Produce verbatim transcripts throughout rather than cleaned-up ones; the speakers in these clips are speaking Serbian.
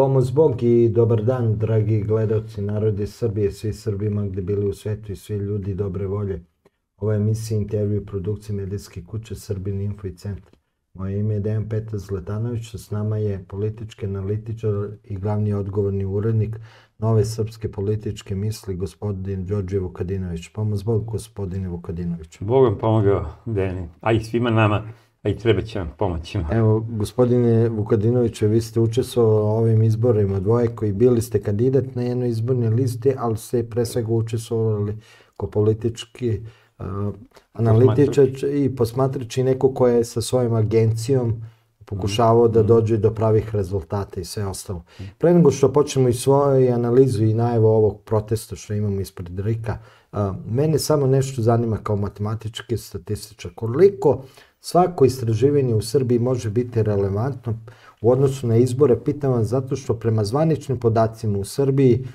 Pomoz Bog i dobar dan, dragi gledalci narode Srbije, svi Srbima gde bili u svetu i svi ljudi dobre volje. Ova emisija intervju i produkcije medijske kuće Srbin Info i Centar. Moje ime je Dejan Petar Zlatanović, s nama je politički analitičar i glavni odgovorni urednik Nove srpske političke misli, gospodin Đorđe Vukadinović. Pomoz Bog, gospodine Vukadinović. Bog vam pomogao, Dejani, a i svima nama, a i treba će vam pomoći. Evo, gospodine Vukadinoviće, vi ste učestvovali u ovim izborima dvoje koji bili ste kandidat na jednoj izbornoj listi, ali ste pre svega učestvovali kao politički uh, analitičar i posmatrač i neko ko je sa svojom agencijom pokušavao da dođe do pravih rezultata i sve ostalo. Pre nego što počnemo i svoju analizu i najavu ovog protesta što imamo ispred Rika, uh, mene samo nešto zanima kao matematički statističar. Koliko svako istraživanje u Srbiji može biti relevantno u odnosu na izbore? Pitam vam zato što prema zvaničnim podacima u Srbiji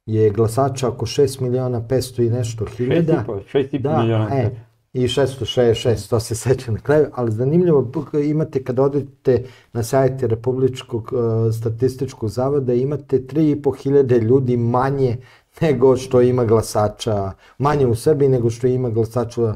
je glasača oko šest miliona petsto i nešto hiljada. šest i po miliona. E, i šesto šezdeset šest, to se seća na kraju, ali zanimljivo imate kad odete na sajte Republičkog uh, statističkog zavoda, imate tri i po hiljade ljudi manje nego što ima glasača, manje u Srbiji nego što ima glasača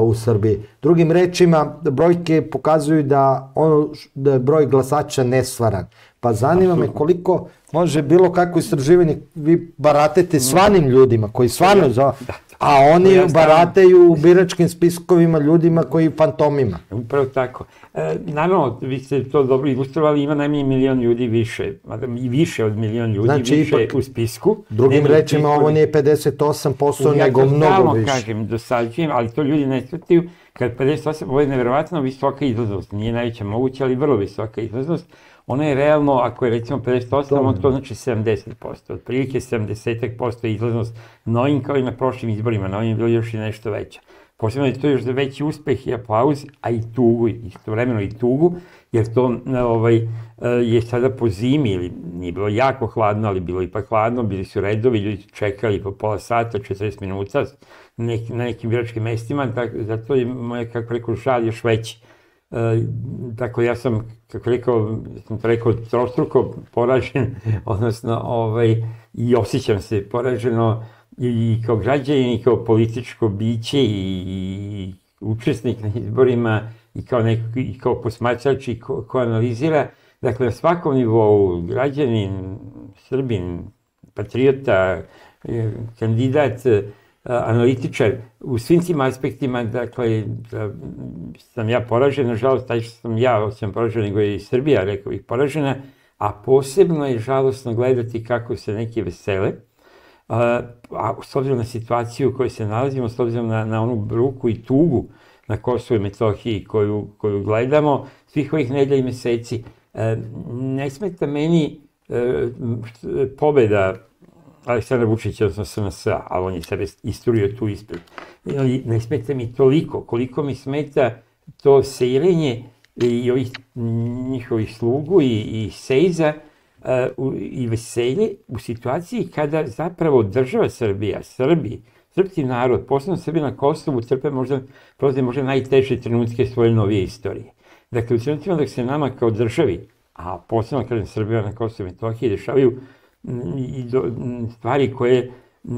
u Srbiji. Drugim rečima, brojke pokazuju da, ono, da je broj glasača nestvaran. Pa zanima me koliko može bilo kako istraživanje, vi baratete stvarnim ljudima koji stvarno za... A oni barataju u biračkim spiskovima ljudima koji fantomima. Upravo tako. E, naravno, vi ste to dobro ilustrovali, ima najmanje milion ljudi više, i više od milion ljudi znači, više ipak, u spisku. Drugim rečima, ovo nije pedeset osam posto, ja nego mnogo više. Ja kažem, dosađujem, ali to ljudi ne shvataju, kad pedeset osam, ovo je nevjerovatno visoka izlaznost, nije najveća moguća, ali vrlo visoka izlaznost. Ona je realno, ako je recimo pedeset osam, on to znači sedamdeset posto. Otprilike sedamdeset posto je izlaznost na ovim kao i na prošlim izborima, na ovim je bilo još i nešto veća. Posebno je to još za veći uspeh i aplauz, a i tugu, istovremeno i tugu, jer to ovaj, je sada po zimi, ili nije bilo jako hladno, ali bilo ipak hladno, bili su redovi, ljudi su čekali po pola sata, četrdeset minuta na nekim biračkim mestima, zato je moje, kako rekao, žal još veći. Dakle, ja sam, kako rekao, sam to rekao, trostruko poražen, odnosno, ovaj, i osjećam se poraženo i kao građanin, i kao političko biće, i učesnik na izborima, i kao, neko, i kao posmatrač, i ko, ko analizira. Dakle, na svakom nivou, građanin, Srbin, patriota, kandidat, analitičar, u svim tim aspektima, dakle, sam ja poražen, nažalost, taj što sam ja, osim poražen, nego je i Srbija, rekao bih, poražena, a posebno je žalostno gledati kako se neki vesele, a, a s obzirom na situaciju u kojoj se nalazimo, s obzirom na, na onu bruku i tugu na Kosovu i Metohiji koju, koju gledamo, svih ovih nedelja i meseci, a, ne smeta meni a, pobeda Aleksandra Vučića, odnosno S N S-a, ali on je sebe isturio tu ispred. Ali ne smeta mi toliko, koliko mi smeta to sejrenje i ovih njihovih slugu i, i sejza uh, i veselje u situaciji kada zapravo država Srbija, Srbi, srpski narod, posebno Srbi na Kosovu, trpe možda, prolaze možda najteže trenutke svoje novije istorije. Dakle, u trenutima dok se nama kao državi, a posebno kažem Srbija na Kosovu i Metohiji, dešavaju i do, stvari koje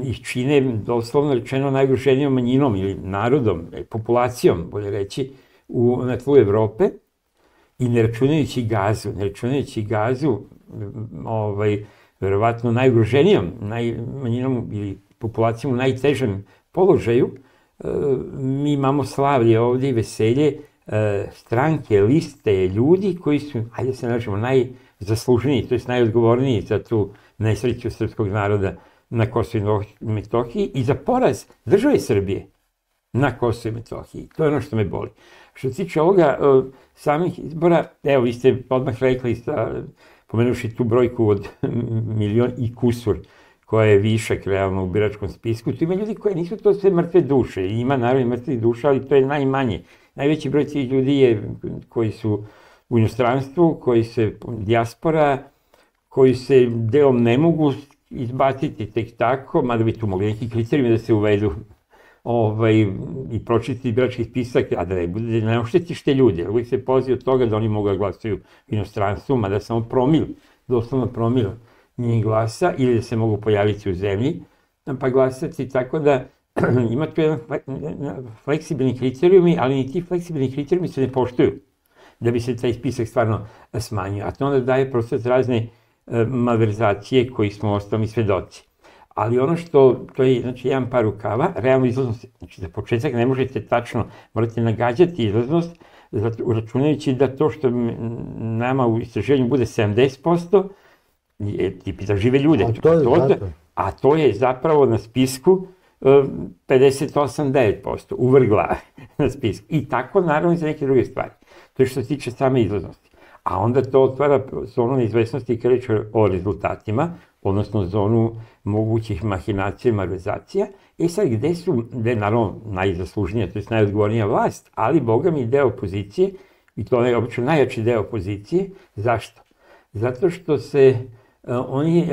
ih čine doslovno rečeno najugroženijom manjinom ili narodom, populacijom, bolje reći, u, na tlu Evrope i ne računajući Gazu, ne računajući Gazu, ovaj, verovatno najugroženijom naj, manjinom ili populacijom u najtežem položaju, e, mi imamo slavlje ovdje i veselje e, stranke, liste, ljudi koji su, hajde se nađemo, najzasluženiji, to je najodgovorniji za tu nesreću srpskog naroda na Kosovu i Metohiji i za poraz države Srbije na Kosovu i Metohiji. To je ono što me boli. Što se tiče ovoga samih izbora, evo, vi ste odmah rekli, pomenuši tu brojku od milion i kusur, koja je višak realno u biračkom spisku, tu ima ljudi koji nisu to sve mrtve duše, ima naravno mrtvih duša, ali to je najmanje. Najveći broj tih ljudi je koji su u inostranstvu, koji se dijaspora, koji se delom ne mogu izbaciti tek tako, mada bi tu mogli neki kriterijumi da se uvedu ovaj, i pročitati birački spisak, a da ne bude, ne oštetiš te ljude. Uvijek se polazi od toga da oni mogu da glasaju u inostranstvu, mada samo promil doslovno promil njih glasa ili da se mogu pojaviti u zemlji pa glasati, tako da ima tu jedan fleksibilni kriterijumi, ali ni ti fleksibilni kriterijumi se ne poštuju da bi se taj spisak stvarno smanjio. A to onda daje prostor razne malverzacije koji smo ostali svedoci. Ali ono što, to je znači jedan par rukava, realno izlaznost, znači za početak ne možete tačno, morate nagađati izlaznost, uračunajući da to što nama u istraživanju bude sedamdeset posto, je tipi da žive ljude. A to je zato. A to je zapravo na spisku pedeset osam zarez devet posto, u vrh glave na spisku. I tako naravno i za neke druge stvari. To je što se tiče same izlaznosti. A onda to otvara zonu neizvesnosti kada reč o rezultatima, odnosno zonu mogućih mahinacija i malverzacija. E sad, gde su, gde je naravno najzaslužnija, to je najodgovornija vlast, ali boga mi deo opozicije, i to je obično najjači deo opozicije. Zašto? Zato što se oni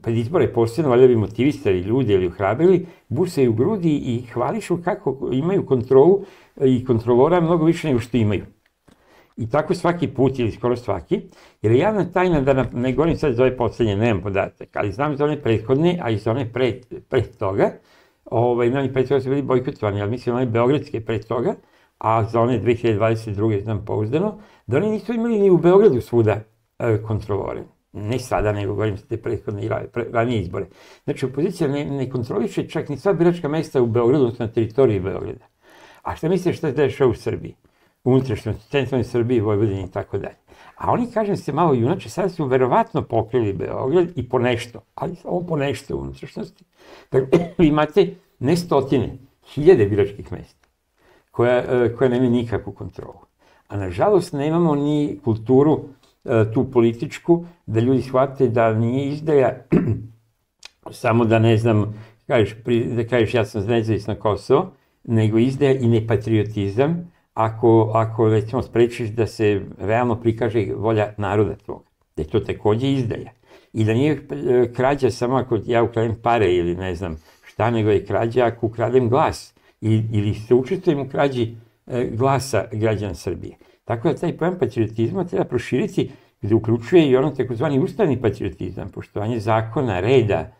pred izbore posebno, valjda bi motivisali ljudi ili uhrabrili, busaju u grudi i hvališu kako imaju kontrolu i kontrolora mnogo više nego što imaju. I tako svaki put ili skoro svaki, jer je javna tajna da ne govorim sad za ove poslednje, nemam podatak, ali znam za one prethodne, a i za one pre, pre toga, ovaj, oni pre toga su bili bojkotovani, ali mislim one beogradske pre toga, a za one dve hiljade dvadeset druge znam pouzdano, da oni nisu imali ni u Beogradu svuda e, kontrolore. Ne sada, nego govorim za te prethodne i ranije izbore. Znači, opozicija ne, ne kontroliše čak ni sva biračka mesta u Beogradu, odnosno na teritoriji Beograda. A šta misliš šta se dešava u Srbiji? U unutrašnjosti, centralnoj Srbiji, Vojvodini i tako dalje. A oni, kažem se, malo junače, sada su verovatno pokrili Beograd i po nešto, ali samo po nešto u unutrašnjosti. Dakle, vi imate ne stotine, hiljade biračkih mesta koja, koja nemaju nikakvu kontrolu. A nažalost nemamo ni kulturu tu političku, da ljudi shvate da nije izdaja samo da ne znam, kažeš, da kažeš ja sam nezavisno Kosovo, nego izdaja i nepatriotizam, ako, ako recimo sprečiš da se realno prikaže volja naroda tvog, da je to takođe izdaja. I da nije krađa samo ako ja ukradem pare ili ne znam šta, nego je krađa ako ukradem glas ili se učestvujem u krađi glasa građana Srbije. Tako da taj pojam patriotizma treba proširiti gde uključuje i ono takozvani ustavni patriotizam, poštovanje zakona, reda,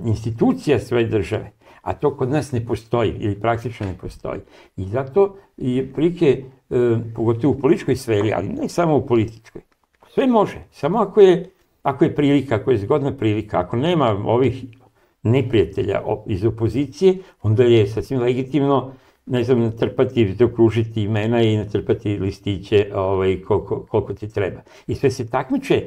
institucija svoje države. A to kod nas ne postoji ili praktično ne postoji. I zato je prilike, pogotovo u političkoj sferi, ali ne samo u političkoj, sve može, samo ako je, ako je prilika, ako je zgodna prilika, ako nema ovih neprijatelja iz opozicije, onda je sasvim legitimno, ne znam, natrpati, zaokružiti imena i natrpati listiće ovaj, koliko, koliko ti treba. I sve se takmiče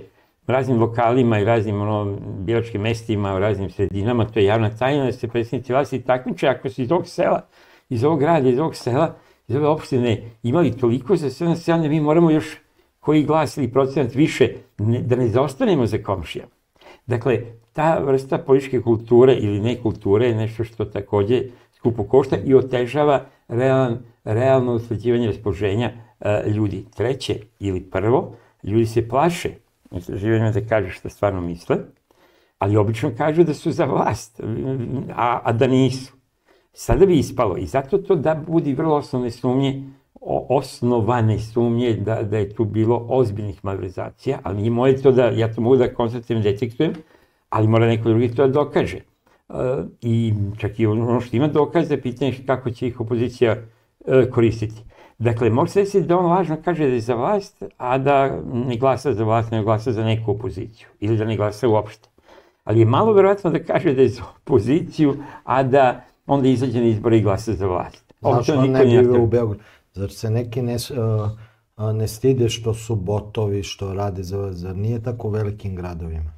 raznim lokalima i raznim ono, biračkim mestima, u raznim sredinama, to je javna tajna da se predsjednici vlasti takmiče ako su iz ovog sela, iz ovog grada, iz ovog sela, iz ove opštine imali toliko za sve naseljane, mi moramo još koji glas ili procenat više, ne, da ne zaostanemo za komšijama. Dakle, ta vrsta političke kulture ili nekulture je nešto što takođe skupo košta i otežava realan, realno usklađivanje raspoloženja uh, ljudi. Treće ili prvo, ljudi se plaše istraživanjima da kažu što stvarno misle, ali obično kažu da su za vlast, a, a da nisu. Sada bi ispalo i zato to da budi vrlo osnovne sumnje, osnovane sumnje da, da je tu bilo ozbiljnih malverzacija, ali nije moje to da, ja to mogu da konstatujem, detektujem, ali mora neko drugi to da dokaže. Uh, I čak i ono što ima dokaze, pitanje je kako će ih opozicija uh, koristiti. Dakle, može se desiti da on lažno kaže da je za vlast, a da ne glasa za vlast, nego glasa za neku opoziciju. Ili da ne glasa uopšte. Ali je malo verovatno da kaže da je za opoziciju, a da onda izađe na izbore i glasa za vlast. Zašto on ne bi u Beogradu? Zar se neki ne, uh, ne stide što su botovi, što rade za, zar nije tako u velikim gradovima?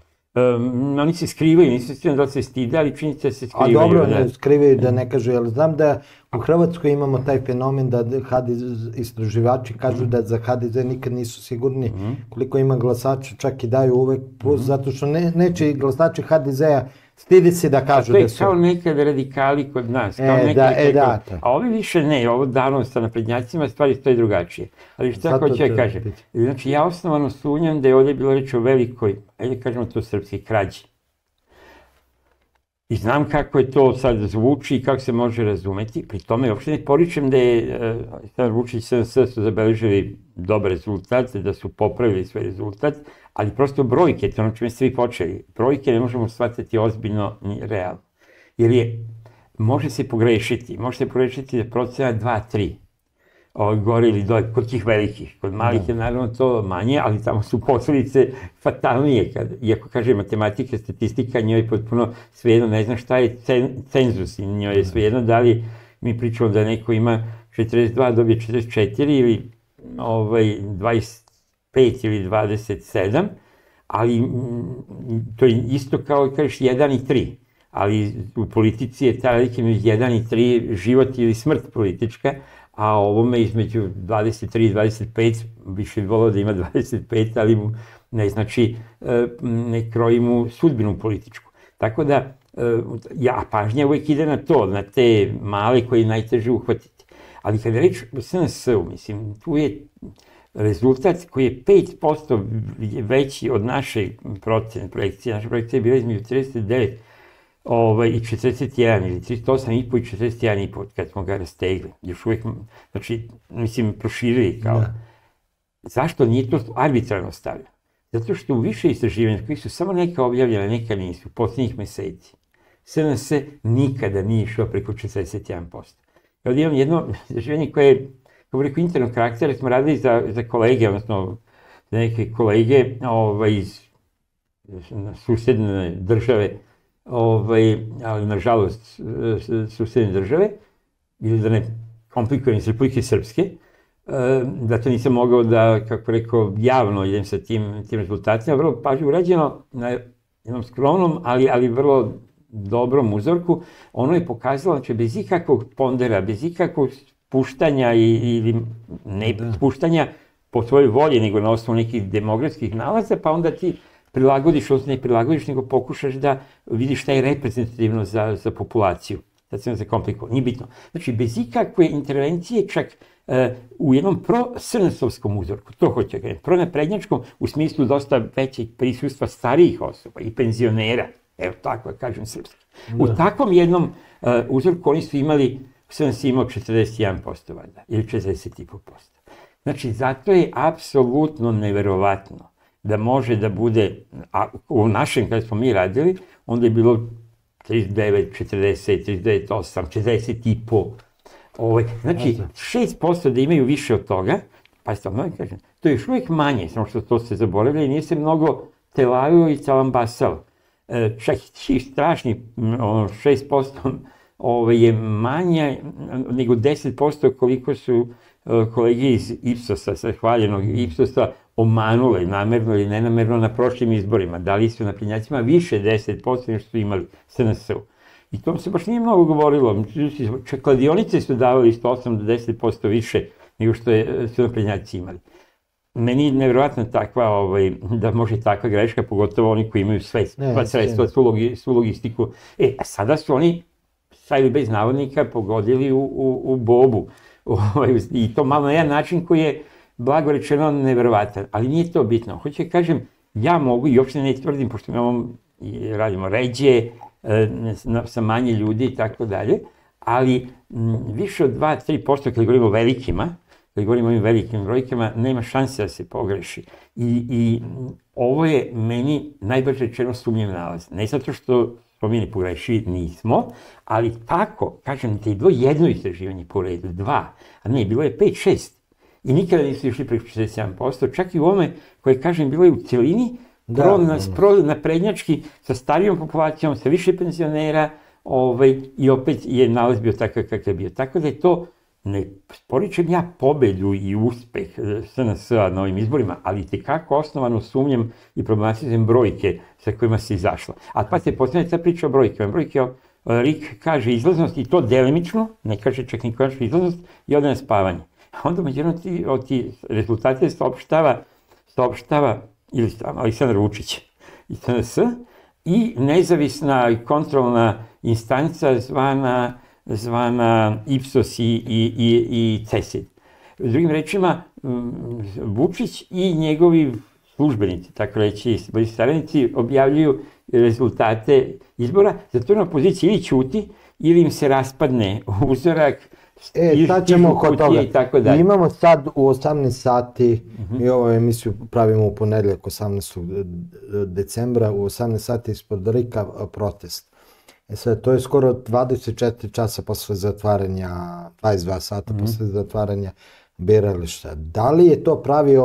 Um, oni se skrivaju, nisu stigli da se stide, ali činjenica da se skrivaju. A dobro, da. Ne skrivaju da ne kažu, ali znam da u Hrvatskoj imamo taj fenomen da H D Z, istraživači kažu mm. da za H D Z nikad nisu sigurni mm. koliko ima glasača, čak i daju uvek plus, mm. zato što ne, neće glasači H D Z-a stidi se da kažu da su. To je kao nekad radikali kod nas. Kao e, da, e, da, to. A ovi više ne, ovo davno sa naprednjacima stvari stoje drugačije. Ali šta hoće da kaže? Znači, ja osnovano sumnjam da je ovdje bilo reč o velikoj, ajde kažemo to srpski, krađi. I znam kako je to sad zvuči i kako se može razumeti. Pri tome uopšte ne poričem da je Aleksandar Vučić i S N S su zabeležili dobar rezultat, da su popravili svoj rezultat, ali prosto brojke, to ono čime ste vi počeli, brojke ne možemo shvatiti ozbiljno ni realno. Jer je, može se pogrešiti, može se pogrešiti da procena dva tri. Gore ili dole, kod tih velikih. Kod malih je naravno to manje, ali tamo su posledice fatalnije. Iako kaže matematika, statistika, njoj je potpuno svejedno, ne znam šta je cenzus, njoj je svejedno da li mi pričamo da neko ima četrdeset dva, dobije četrdeset četiri ili dvadeset pet ili dvadeset sedam, ali to je isto kao kažeš jedan i tri. Ali u politici je ta razlika između jedan i tri život ili smrt politička, a ovome između dvadeset tri i dvadeset pet, više bi volao da ima dvadeset pet, ali mu ne znači, ne kroji mu sudbinu političku. Tako da, ja, pažnja uvek ide na to, na te male koje je najteže uhvatiti. Ali kada je reč o S N S-u, mislim, tu je rezultat koji je pet posto veći od naše procene, projekcije. Naša projekcija je bila između trideset devet i četrdeset jedan, ili trideset osam i po i četrdeset jedan i po kad smo ga rastegli. Još uvijek, znači, mislim, proširili kao. Zašto nije to arbitrarno stavljeno? Zato što u više istraživanja koji su samo neka objavljene, neka nisu, posljednjih meseci, S N S nikada nije išao preko četrdeset jedan posto. Ovdje imam jedno istraživanje koje je, kako rekao, internog karaktera, smo radili za kolege, odnosno za neke kolege iz susedne države, ali nažalost susedne države, ili da ne komplikujem iz Republike Srpske, da to nisam mogao da, kako rekao, javno idem sa tim rezultatima. Vrlo pažnje urađeno na jednom skromnom, ali vrlo dobrom uzorku. Ono je pokazalo, znači, bez ikakvog pondera, bez ikakvog spuštanja ili ne spuštanja po svojoj volji, nego na osnovu nekih demografskih nalaza, pa onda ti prilagodiš, odnosno ne prilagodiš, nego pokušaš da vidiš šta je reprezentativno za populaciju. Sad sam zakomplikovao, nije bitno. Znači, bez ikakve intervencije, čak u jednom pro-S N S-ovskom uzorku, to hoće ga, pro-naprednjačkom, u smislu dosta većeg prisustva starijih osoba i penzionera, evo tako da kažem srpski. U takvom jednom uzorku oni su imali, S N S imao četrdeset jedan posto valjda, ili četrdeset jedan posto. Znači, zato je apsolutno neverovatno da može da bude, a u našem kada smo mi radili, onda je bilo trideset devet, četrdeset, trideset devet, osam, četrdeset i po. Znači, šest posto da imaju više od toga, pa ste vam kažem, to je još uvijek manje, samo što to se zaboravlja i nije se mnogo telavio i calambasao. Čak i strašni šest posto je manje nego deset posto koliko su kolege iz Ipsosa, sa hvaljenog Ipsosa, omanule, namerno ili nenamerno na prošlim izborima. Dali su naprednjacima više deset posto nego što su imali S N S-u. I to se baš nije mnogo govorilo. Čak kladionice su davali isto osam do deset posto više nego što su naprednjaci imali. Meni je nevjerojatno takva, da može takva greška, pogotovo oni koji imaju sve sredstva, svu logistiku. E, a sada su oni, sa ili bez navodnika, pogodili u bobu. I to malo na jedan način koji je, blago rečeno, nevjerovatan. Ali nije to bitno. Hoću da kažem, ja mogu, i uopšte ne tvrdim, pošto mi imamo, radimo ređe, sa manje ljudi i tako dalje, ali više od dva do tri posto kada govorimo o velikima, kada govorimo o ovim velikim brojkama, nema šanse da se pogreši. I ovo je meni najbrže rečeno sumnjiv nalaz. Ne zato što smo mi ne pogrešili, nismo, ali tako, kažem, da je bilo jedno istraživanje po redu, dva, a ne, bilo je pet, šest. I nikada nisu išli preko četrdeset jedan posto, čak i u ovome koje, kažem, bilo je u celini, naprednjački, sa starijom populacijom, sa više penzionera, i opet je nalaz bio takav kakav je bio. Tako da je to, ne poričem ja pobedu i uspeh S N S-a na ovim izborima, ali tekako osnovano sumnjam i problematizujem brojke sa kojima se izašla. A pa se postavlja ta priča o brojkama. Brojke, R I K kaže izlaznost i to delimično, ne kaže čak ni konačnu izlaznost, i ode na spavanje. A onda međutim od ti rezultate saopštava ili Aleksandar Vučić i S N S i nezavisna i kontrolna instanca zvana Ipsos i CESID. Drugim rečima, Vučić i njegovi službenici, tako reći, saradnici, objavljuju rezultate izbora, zato na opoziciji ili ćuti, ili im se raspadne uzorak, E, sad ćemo kod toga. Imamo sad u osamnaest sati, mi ovu emisiju pravimo u ponedjeljak osamnaestog decembra, u osamnaest sati ispod Rika protest. E sad, to je skoro dvadeset četiri časa posle zatvaranja, dvadeset dva sata posle zatvaranja birališta. Da li je to pravi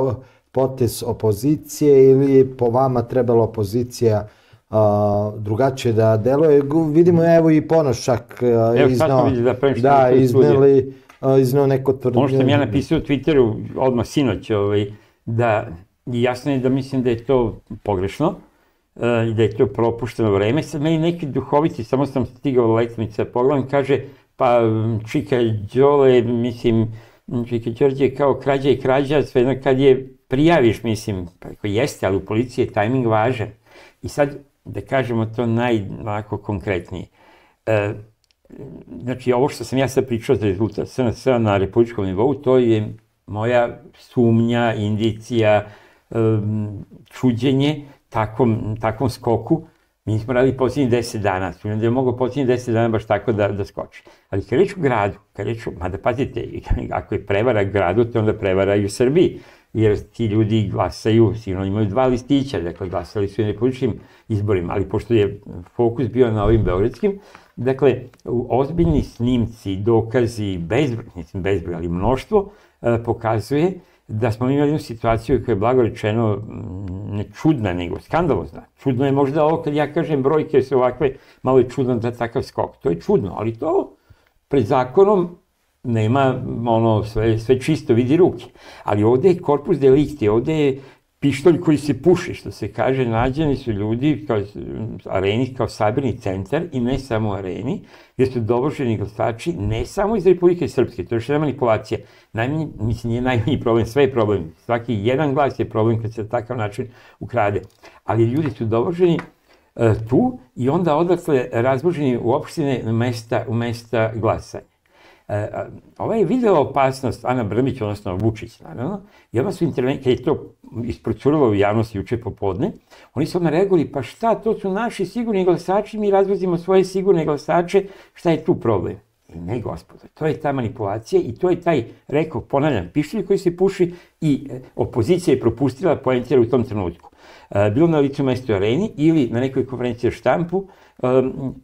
potez opozicije ili po vama trebala opozicija drugačije da deluje? Vidimo, evo i Ponoš čak iznao neko tvrdnje. Ono što sam ja napisao u Twitteru odmah sinoć, da jasno je da mislim da je to pogrešno i da je to propušteno vreme. Sad meni neki duhovici, samo sam stigao u letnice, pogledam, kaže, pa Čika Đole, mislim, Čika Đorđe kao krađa i krađa, sve jedno kad je prijaviš, mislim, pa jeste, ali u policiji je tajming važan. I sad, da kažemo to najlako konkretnije. Znači, ovo što sam ja sad pričao za rezultat S N S-a na republičkom nivou, to je moja sumnja, indicija, čuđenje takvom skoku. Mi smo radili posljednjih deset dana, sumnjam da je mogao posljednjih deset dana baš tako da skoči. Ali kad reč u gradu, kad reč u, mada pazite, ako je prevara gradu, to onda prevara i u Srbiji. Jer ti ljudi glasaju, sigurno imaju dva listića, dakle glasali su i na republičkim izborima, ali pošto je fokus bio na ovim beogradskim, dakle, ozbiljni snimci, dokazi, bezbroj, mislim bezbroj, ali mnoštvo, pokazuje da smo imali jednu situaciju koja je blago rečeno ne čudna, nego skandalozna. Čudno je možda ovo kad ja kažem brojke su ovakve, malo je čudno da takav skok. To je čudno, ali to pred zakonom nema ono sve čisto, vidi ruke. Ali ovde je korpus delikti, ovde je pištolj koji se puši, što se kaže, nađeni su ljudi kao areni, kao sabirni centar i ne samo u areni, gdje su dovoženi glasači ne samo iz Republike Srpske, to je još jedna manipulacija. Najmanji, mislim, nije najmanji problem, sve je problem. Svaki jedan glas je problem kad se na takav način ukrade. Ali ljudi su dovoženi tu i onda odatle razboženi u opštine u mesta glasanja. Ova je videla opasnost, Ana Brnabić, odnosno Vučić, naravno, i odmah su intervencije, kad je to isprocurilo u javnosti juče popodne, oni su odmah reagovali, pa šta, to su naši sigurni glasači, mi razvozimo svoje sigurne glasače, šta je tu problem? Ne, gospodo, to je ta manipulacija i to je taj, rekao, ponavljam, pištolj koji se puši i opozicija je propustila poentjera u tom trenutku. Bilo na licu mesto areni ili na nekoj konferenciji o štampu,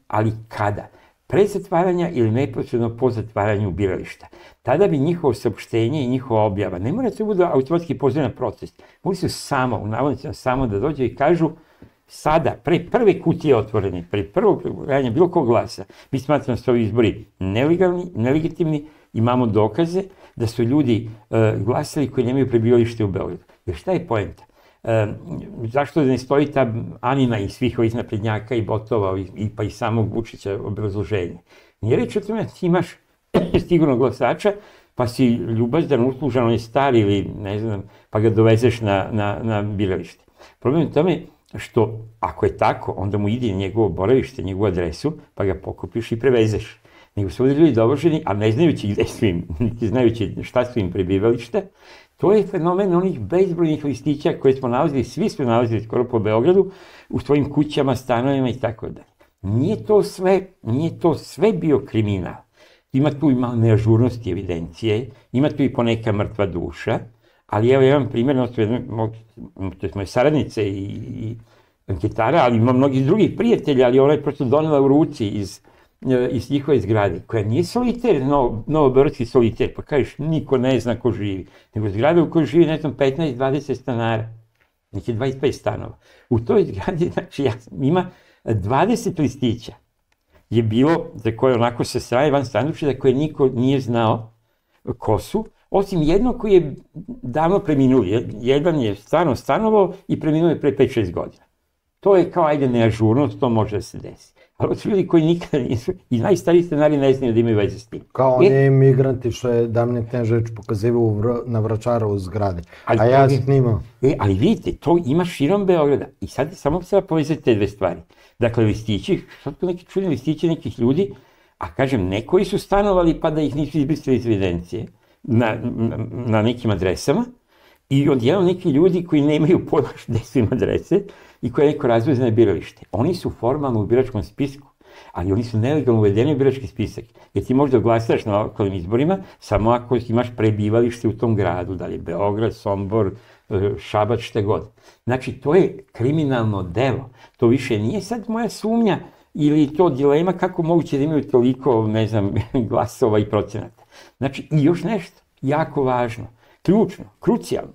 ali kada? Pre zatvaranja ili neposredno po zatvaranju birališta. Tada bi njihovo saopštenje i njihova objava, ne mora se bude automatski poziv na protest, mogli su samo, u navodnicima samo da dođe i kažu sada, pre prve kutije otvorene, pre prvog pregledanja bilo kog glasa, mi smatramo da su ovi izbori nelegalni, nelegitimni, imamo dokaze da su ljudi glasali koji nemaju prebivalište u Beogradu. Jer šta je poenta? Zašto ne stoji ta Anina i svih ovih naprednjaka i botova pa i samog Vučića obrazloženje? Nije reč o tome da ti imaš sigurno glasača pa si ljubazdan, uslužan, on je star ili ne znam, pa ga dovezeš na biralište. Problem je u tome što ako je tako, onda mu ide njegovo boravište, njegovu adresu, pa ga pokupiš i prevezeš. Nego su ovdje ljudi dovoženi, a ne znajući gde su im, niti znajući šta su im prebivališta. To je fenomen onih bezbrojnih listića koje smo nalazili, svi smo nalazili skoro po Beogradu, u svojim kućama, stanovima i tako dalje. Nije to sve, nije to sve bio kriminal. Ima tu i malo neažurnosti evidencije, ima tu i poneka mrtva duša, ali evo jedan primjer, to je moje saradnice i anketara, ali ima mnogih drugih prijatelja, ali ona je prosto donela u ruci iz iz njihove zgrade, koja nije soliter, novobeogradski soliter, pa kažeš, niko ne zna ko živi, nego zgrada u kojoj živi, ne znam, petnaest dvadeset stanara, neki dvadeset pet stanova. U toj zgradi, znači, ima dvadeset listića, je bilo, za koje onako se straje van sandučića, za koje niko nije znao ko su, osim jednog koji je davno preminuo, jedan je stvarno stanovao i preminuo je pre pet šest godina. To je kao, ajde, neažurnost, to može da se desi. Ali od ljudi koji nikada nisu, i najstariji stanari ne znaju da imaju veze s tim. Kao oni imigranti što je Damljan Knežević pokazivao na Vračarovu zgradi, a ja snimao. Ali vidite, to ima širom Beograda. I sad samo se povezati te dve stvari. Dakle, listići, sad to neki čudni listići nekih ljudi, a kažem, ne koji su stanovali pa da ih nisu izbrisali iz evidencije na nekim adresama, I odjednom neki ljudi koji nemaju pojma gde su im adrese i koje neko razveze na biralište. Oni su formalno u biračkom spisku, ali oni su nelegalno uvedeni u birački spisak. Jer ti možda glasaš na lokalnim izborima samo ako imaš prebivalište u tom gradu, da li je Beograd, Sombor, Šabac, šta god. Znači, to je kriminalno delo. To više nije sad moja sumnja ili to dilema kako moguće da imaju toliko, ne znam, glasova i procenata. Znači, i još nešto, jako važno, ključno, krucijalno.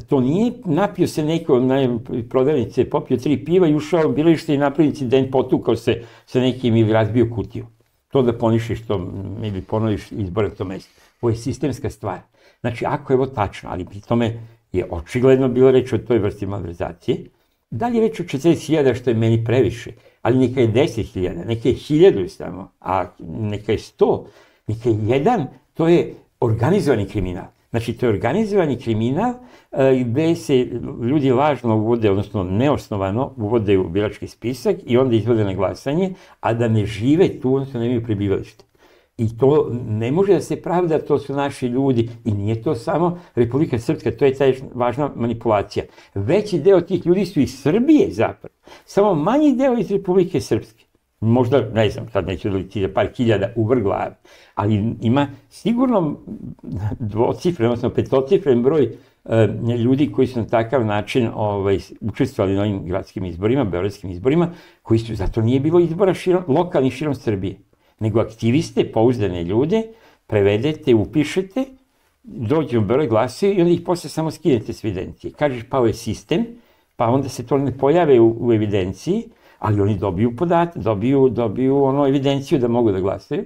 To nije napio se neko na prodavnice, popio tri piva i ušao u biralište i napravio incident, potukao se sa nekim ili razbio kutiju. To da ponišiš to ili ponoviš izbore na to mesto. Ovo je sistemska stvar. Znači, ako je ovo tačno, ali pri tome je očigledno bilo reč o toj vrsti malverzacije, da li je reč o četrdeset hiljada što je meni previše, ali neka je deset hiljada, neka je hiljadu samo, a neka je sto, neka je jedan, to je organizovani kriminal. Znači, to je organizovani kriminal gde se ljudi lažno uvode, odnosno neosnovano uvode u birački spisak i onda izvode na glasanje, a da ne žive tu, odnosno nemaju prebivalište. I to ne može da se pravda, to su naši ljudi i nije to samo Republika Srpska, to je ta važna manipulacija. Veći deo tih ljudi su iz Srbije zapravo, samo manji deo iz Republike Srpske. Možda, ne znam, sad neću doliti za par hiljada u vrh glave, ali ima sigurno dvocifren, odnosno petocifren broj ljudi koji su na takav način učestvovali na ovim gradskim izborima, beogradskim izborima, koji su, zato nije bilo izbora lokalnih širom Srbije, nego aktiviste, pouzdane ljude, prevedete, upišete, dođu u Beograd, glasaju i onda ih posle samo skinete s evidencije. Kažeš pao je sistem, pa onda se to ne pojave u, u evidenciji, ali oni dobiju podatak, dobiju, dobiju ono evidenciju da mogu da glasaju,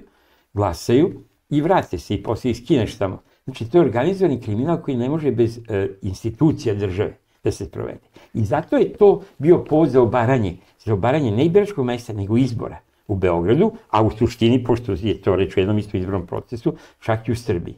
glasaju i vrate se i posle ih skineš tamo. Znači, to je organizovani kriminal koji ne može bez e, institucija države da se provede. I zato je to bio povod za obaranje, za obaranje ne biračkog mesta, nego izbora u Beogradu, a u suštini, pošto je to reč u jednom isto izbornom procesu, čak i u Srbiji.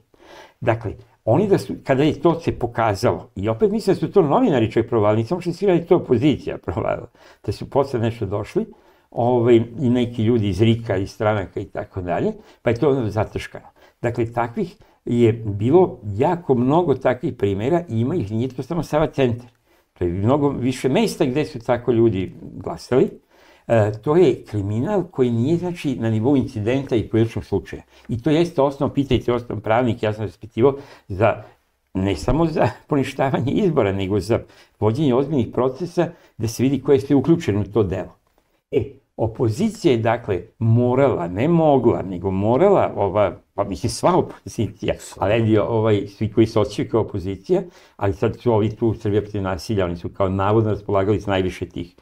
Dakle, oni da su, kada je to se pokazalo, i opet mislim da su to novinari čak provalili, samo što svi da je to opozicija provalila, da su posle nešto došli, ovaj, i neki ljudi iz RIK-a, iz stranaka i tako dalje, pa je to ono zataškano. Dakle, takvih je bilo jako mnogo takvih primjera i ima ih, nije to samo Sava centar. To je mnogo više mesta gde su tako ljudi glasali. E, to je kriminal koji nije, znači, na nivou incidenta i pojedinačnog slučaja. I to jeste osnovno, pitajte osnovno pravnik, ja sam raspitivao, za, ne samo za poništavanje izbora, nego za vođenje ozbiljnih procesa da se vidi ko je sve uključeno u to delo. E, opozicija je, dakle, morala, ne mogla, nego morala, ova, pa mislim sva opozicija, ali ovaj, svi koji se osjećaju kao opozicija, ali sad su ovi tu Srbija protiv nasilja, oni su kao navodno raspolagali s najviše tih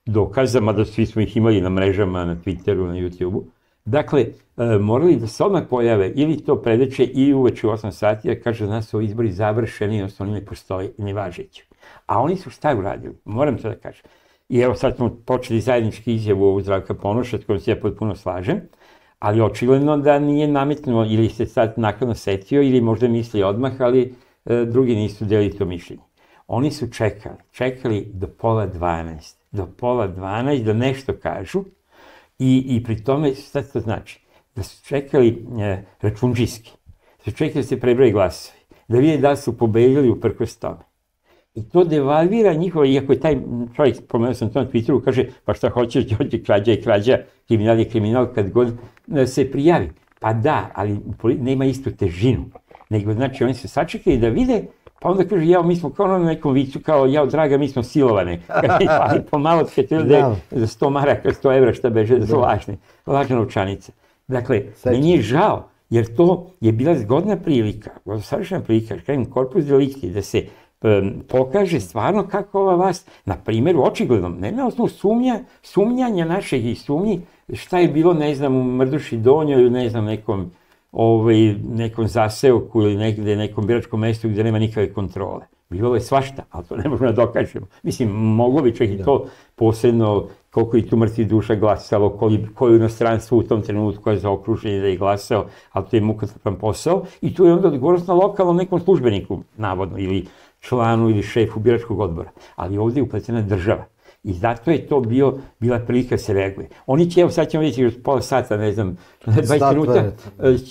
dokaza, mada svi smo ih imali na mrežama, na Twitteru, na YouTubeu. Dakle, e, morali da se odmah pojave ili to predeče ili uveče u osam sati, da kaže da nas su ovi izbori završeni, odnosno oni ne postoje, ne važeći. A oni su šta uradili? Moram to da kažem. I evo sad smo počeli zajednički izjavu ovu Zdravka Ponoša, s kojom se ja potpuno slažem, ali očigledno da nije nametnuo ili se sad nakladno setio ili možda misli odmah, ali e, drugi nisu delili to mišljenje. Oni su čekali, čekali do pola dvanaest, do pola dvanaest da nešto kažu i, i pri tome, šta to znači? Da su čekali e, računđiski, da su čekali da se prebroje glasovi, da vide da su pobedili uprkos tome. I to devalvira njihova, iako je taj čovjek, pomenuo sam to na Twitteru, kaže, pa šta hoćeš, Đorđe, krađa je krađa, kriminal je kriminal kad god se prijavi. Pa da, ali nema istu težinu. Nego, znači, oni se sačekali da vide, pa onda kaže, jao, mi smo kao na nekom vicu, kao, jao, draga, mi smo silovane. Ali pomalo se to da je za sto maraka, sto evra, šta beže, da su lažne, lažna novčanica. Dakle, meni je žao, jer to je bila zgodna prilika, savršena prilika, kažem, korpus delikti, da se pokaže stvarno kako ova vlast, na primjeru, očigledno, ne na osnovu sumnja, sumnjanja našeg i sumnji, šta je bilo, ne znam, u Mrduši Donjoj ili ne znam, nekom, ovaj, nekom zaseoku ili negde, nekom biračkom mestu gde nema nikakve kontrole. Bilo je svašta, ali to ne možemo da dokažemo. Mislim, moglo bi čak i to posebno, koliko i tu mrtvih duša glasalo, koji u inostranstvu u tom trenutku koje je zaokruženje da je glasao, ali to je mukotrpan posao. I tu je onda odgovornost na lokalnom nekom službeniku, navodno, ili članu ili šefu biračkog odbora. Ali ovdje je upletena država. I zato je to bio, bila prilika da se reaguje. Oni će, evo sad ćemo vidjeti još pola sata, ne znam, dvadeset minuta,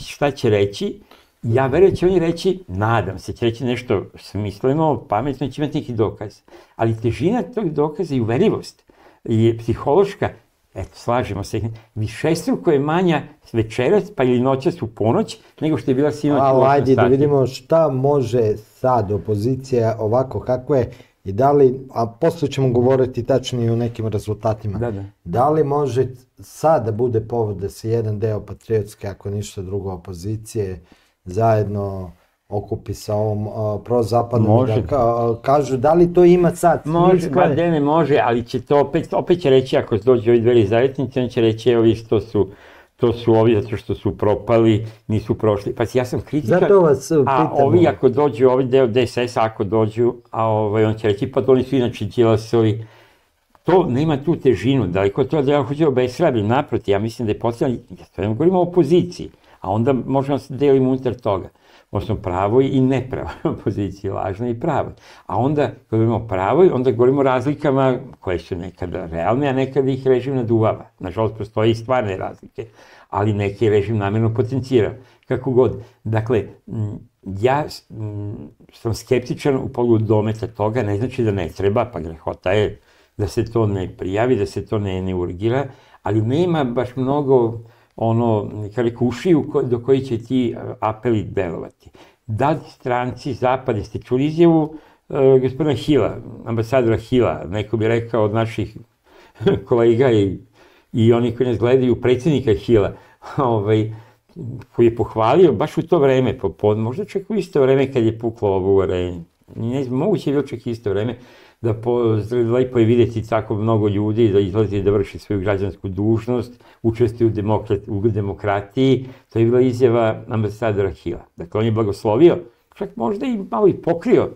šta će reći. Ja verujem da će oni reći, nadam se, će reći nešto smisleno, pametno, će imati neki dokaz. Ali težina tog dokaza i uverljivost je psihološka, eto, slažemo se, višestruko je manja večeras, pa ili noćas u ponoć, nego što je bila sinoć u osam sati. Ajde da vidimo šta može sad opozicija ovako kakva je i da li, a posle ćemo govoriti tačnije o nekim rezultatima, da, da. da li može sad da bude povod da se jedan deo patriotske, ako ništa drugo, opozicije zajedno okupi sa ovom uh, prozapadnom, da ka, kažu da li to ima sad smisla? Može, ba da ne može, ali će to opet, opet će reći ako dođe ovi dveri zavetnici, on će reći evo vi to su, to su ovi zato što su propali, nisu prošli. Pa ja sam kritičar, zato vas pitamo. A ovi ako dođu, ovi deo D S S ako dođu, a ovaj, on će reći pa to oni su inače Đilasovi. To nema tu težinu, daleko to da ja hoću obeshrabrim, naproti, ja mislim da je potrebno, ja to ne govorimo o opoziciji, a onda možemo se deliti unutar toga. Možemo pravoj i nepravoj opoziciji, lažnoj i pravoj. A onda, kad govorimo o pravoj, onda govorimo o razlikama koje su nekada realne, a nekada ih režim naduvava. Nažalost, postoje i stvarne razlike, ali neki režim namjerno potencira. Kako god. Dakle, ja sam skeptičan u pogledu dometa toga, ne znači da ne treba, pa grehota je da se to ne prijavi, da se to ne, ne urgira, ali nema baš mnogo ono, kada kušiju do koji će ti apeli delovati. Da li stranci Zapada, ste čuli izjavu uh, gospodina Hila, ambasadora Hila, neko bi rekao od naših kolega i, i oni koji nas gledaju, predsjednika Hila, ovaj, koji je pohvalio baš u to vreme, popod, možda čak u isto vreme kad je puklo ovo u areni. Ne znam, moguće je bilo čak isto vreme, da po, lepo je vidjeti tako mnogo ljudi da izlazi da vrši svoju građansku dužnost, učestvuju u, demokrat, u demokratiji. To je bila izjava ambasadora Hila. Dakle, on je blagoslovio, čak možda i malo i pokrio.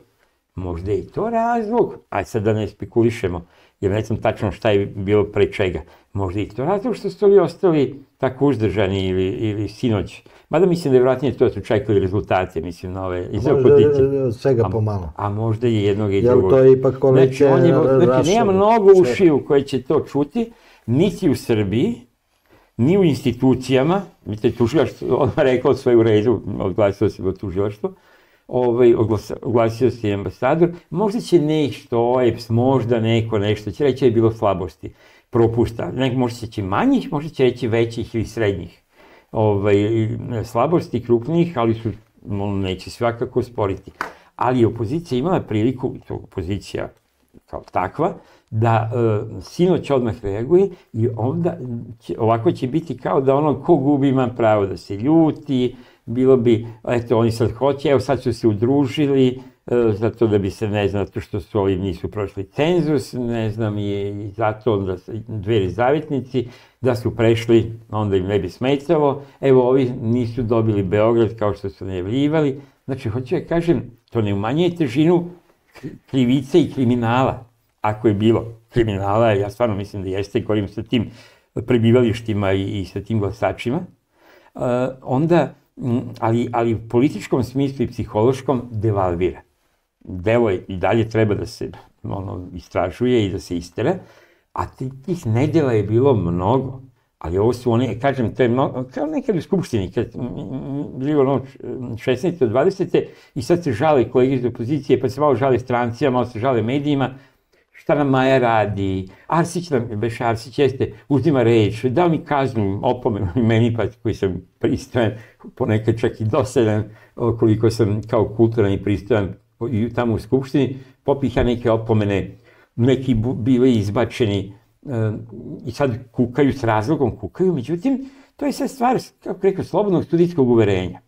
Možda je i to razlog, aj sad da ne spekulišemo, jer ne znam tačno šta je bilo pre čega. Možda je i to razlog što su ovi ostali tako uzdržani ili, ili sinoć. Mada mislim da je vratnije to da su čekali rezultate, mislim, na ove iz opozicije. Možda svega pomalo. A, a možda i jednog i drugog. Jel to je ipak koalicija Znači, rašava? Znači, nema mnogo ušiju koje će to čuti, niti u Srbiji, ni u institucijama. Vidite, tužilaštvo, on rekao sve u redu, odglasio se do tužilaštva, ovaj, oglasio se i ambasador. Možda će nešto, O E P S, možda neko nešto, će reći da je bilo slabosti, propusta. Nek, možda će manjih, možda će reći većih ili srednjih. Ovaj, slabosti krupnih, ali su, neće svakako sporiti. Ali opozicija imala priliku, to opozicija kao takva, da e, sinoć odmah reaguje i onda će, ovako će biti kao da ono ko gubi ima pravo da se ljuti, bilo bi, eto oni sad hoće, evo sad su se udružili, e, zato da bi se, ne znam, zato što su ovi nisu prošli cenzus, ne znam, i zato da dveri zavetnici, da su prešli, onda im ne bi smetalo, evo ovi nisu dobili Beograd kao što su najavljivali. Znači, hoću ja kažem, to ne umanjuje težinu krivice i kriminala, ako je bilo kriminala, ja stvarno mislim da jeste, govorim sa tim prebivalištima i, i sa tim glasačima, uh, onda, ali, ali u političkom smislu i psihološkom devalvira. Delo je i dalje treba da se ono, istražuje i da se istera, a tih nedjela je bilo mnogo, ali ovo su one, kažem, to je mnogo, kao nekad u Skupštini, kad bilo ono šesnaeste do dvadesete i sad se žale kolege iz opozicije, pa se malo žale strancima, malo se žale medijima, šta nam Maja radi, Arsić nam, beš Arsić jeste, uzima reč, dao mi kaznu, opomenu i meni, pa koji sam pristojan, ponekad čak i dosadan, koliko sam kao kulturan i pristojan i tamo u Skupštini, popih ja neke opomene, neki bili izbačeni uh, i sad kukaju, s razlogom kukaju, međutim, to je sad stvar, kako rekao, slobodnog studijskog uverenja.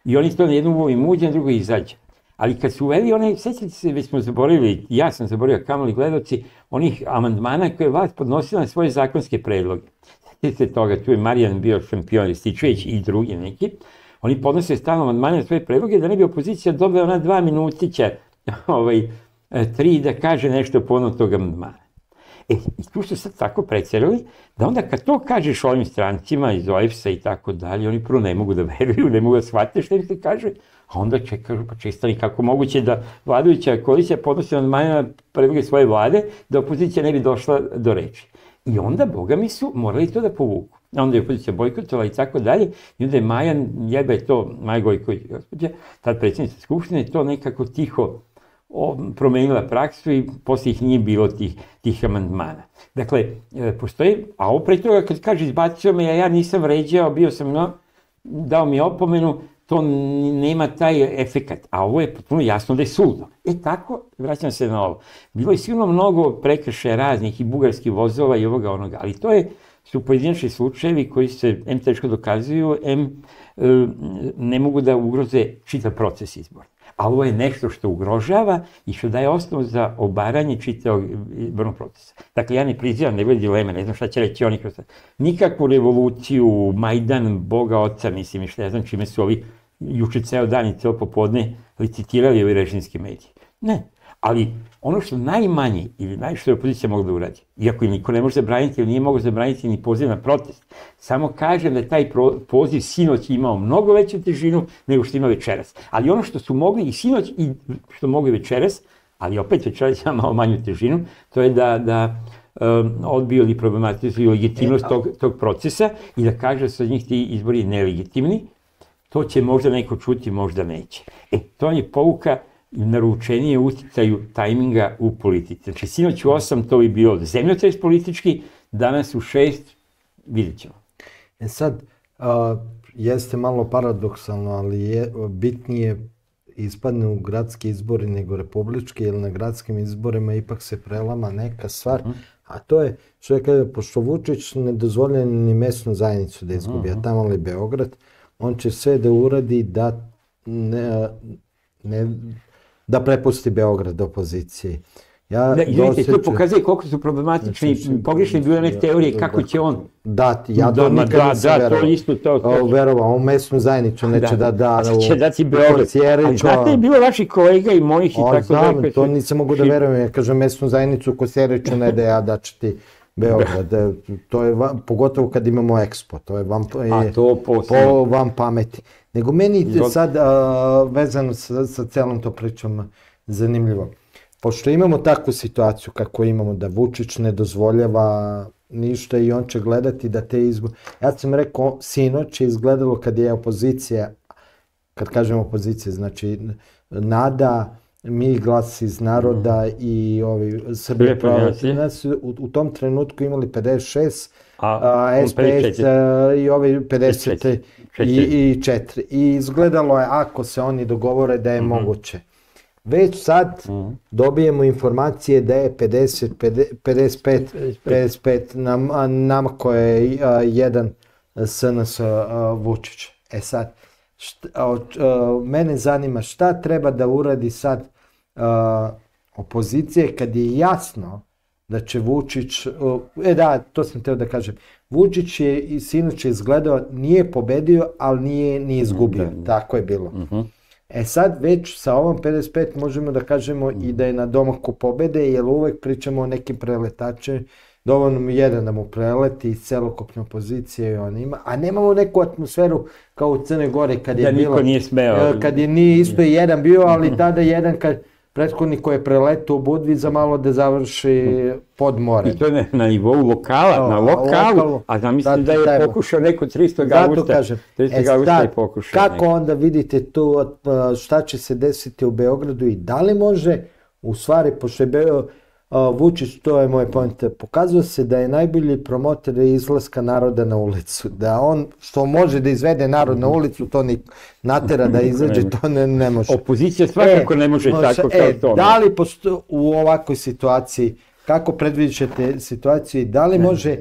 I oni to na jednu uvoju muđe, na drugo izađe. Ali kad su uveli one, sećate se, već smo zaboravili, ja sam zaboravio, kamoli gledoci, onih amandmana koje je vlast podnosila na svoje zakonske predloge. Sećate se toga, tu je Marijan bio šampion, Rističević i drugi neki, oni podnose stalno amandmane na svoje predloge da ne bi opozicija dobila ona dva minutića, ovaj, tri da kaže nešto povodom tog amandmana. E, i tu su sad tako precerali, da onda kad to kažeš ovim strancima iz O E P S-a i tako dalje, oni prvo ne mogu da veruju, ne mogu da shvate što im se kaže, a onda čekaju, pa čestani kako moguće da vladajuća koalicija podnosi amandmane na predloge svoje vlade, da opozicija ne bi došla do reči. I onda, boga mi su, morali to da povuku. onda je opozicija bojkotovala i tako dalje, i onda je Maja, jeba je to, Maja Gojković, gospođa, tad predsjednica Skupštine, to nekako tiho promenila praksu i poslije ih nije bilo tih, tih amandmana. Dakle, postoji, a opre toga kad kaže izbacio me, ja, ja nisam vređao, bio sam, no, dao mi opomenu, to nema taj efekat, a ovo je potpuno jasno da je suludo. E tako, vraćam se na ovo. Bilo je sigurno mnogo prekršaja raznih i bugarskih vozova i ovoga onoga, ali to je, su pojedinačni slučajevi koji se em teško dokazuju, em ne mogu da ugroze čitav proces izbora. A ovo je nešto što ugrožava i što daje osnovu za obaranje čitavog izbornog procesa. Dakle, ja ne prizivam, ne bude dileme, ne znam šta će reći oni kroz to. Nikakvu revoluciju, Majdan, Boga oca, mislim, i šta ja znam čime su ovi juče ceo dan i ceo popodne licitirali ovi režimski mediji. Ne, ali ono što najmanje ili najviše je opozicija mogla da uradi, iako im niko ne može zabraniti ili nije mogo zabraniti ni poziv na protest, samo kažem da taj poziv sinoć imao mnogo veću težinu nego što ima večeras. Ali ono što su mogli i sinoć i što mogli večeras, ali opet večeras ima malo manju težinu, to je da, da um, odbiju ili problematizuju legitimnost tog, tog procesa i da kaže da su njih ti izbori nelegitimni. To će možda neko čuti, možda neće. E, to je pouka naručenije uticaju tajminga u politici. Znači, sinoć u osam to bi bio zemljotres politički, danas u šest vidjet ćemo. E sad, a, jeste malo paradoksalno, ali je bitnije ispadne u gradski izbori nego republički, jer na gradskim izborima ipak se prelama neka stvar, mm. a to je, što je kada, pošto Vučić ne dozvolja ni mesnu zajednicu da izgubi, mm. a tamo li Beograd, on će sve da uradi da ne, ne da prepusti Beograd opoziciji. Ja da, izvinite, to pokazuje koliko su problematični i pogrešne bile neke teorije kako će on dati. Ja to nikad da, nisam da, to isto to. Verovao, on mesnu zajednicu neće da da. A će dati Beograd. Ali znate je bilo vaših kolega i mojih i tako da. Znam, to nisam mogu da verujem. Ja kažem mesnu zajednicu Kosjeriću ne da ja da će ti Beograd. To je, pogotovo kad imamo Expo, to je vam, a to po vam pameti. Nego meni sad, vezano sa, sa celom to pričom, zanimljivo. Pošto imamo takvu situaciju kako imamo, da Vučić ne dozvoljava ništa i on će gledati da te izbore... Ja sam rekao, sinoć je izgledalo kad je opozicija, kad kažem opozicija, znači Nada, Mi glas iz naroda mm. i ovi Srbije prava, u, u tom trenutku imali pedeset šest, a, a es pe es a, i ovi pedeset četiri. I izgledalo je, ako se oni dogovore, da je mm-hmm. moguće. Već sad mm. dobijemo informacije da je pedeset, pedeset pet, pedeset pet nam, nama koje je a, jedan es en es a, Vučić. E sad, šta, a, a, mene zanima šta treba da uradi sad a, opozicije kad je jasno da će Vučić, e da, to sam teo da kažem, Vučić je i sinoć izgledao, nije pobedio, ali nije ni izgubio, mm-hmm. tako je bilo. Mm-hmm. E sad već sa ovom pedeset pet možemo da kažemo mm-hmm. i da je na domaku pobede, jer uvek pričamo o nekim preletačima, dovoljno mu jedan da mu preleti iz celokupne opozicije i on ima, a nemamo neku atmosferu kao u Crnoj Gori kad je da bilo, niko nije smeo. Kad je nije isto jedan bio, ali tada jedan kad prethodnik koji je preletao u Budvi malo da završi pod more. I to je na nivou lokala, na lokalu, lokalu, a zamislite da je tajmo. pokušao neko tristoga augusta, tristoga augusta je pokušao. Kako neko. Onda vidite tu šta će se desiti u Beogradu i da li može, u stvari, pošto je Beo, Vučić, to je moj point, pokazuje se da je najbolji promotor izlaska naroda na ulicu, da on što može da izvede narod na ulicu, to ni natera da izađe, to ne, ne može. Opozicija svakako e, ne može može, tako kao e, to. Da li posto, u ovakvoj situaciji, kako predviđate situaciju, da li može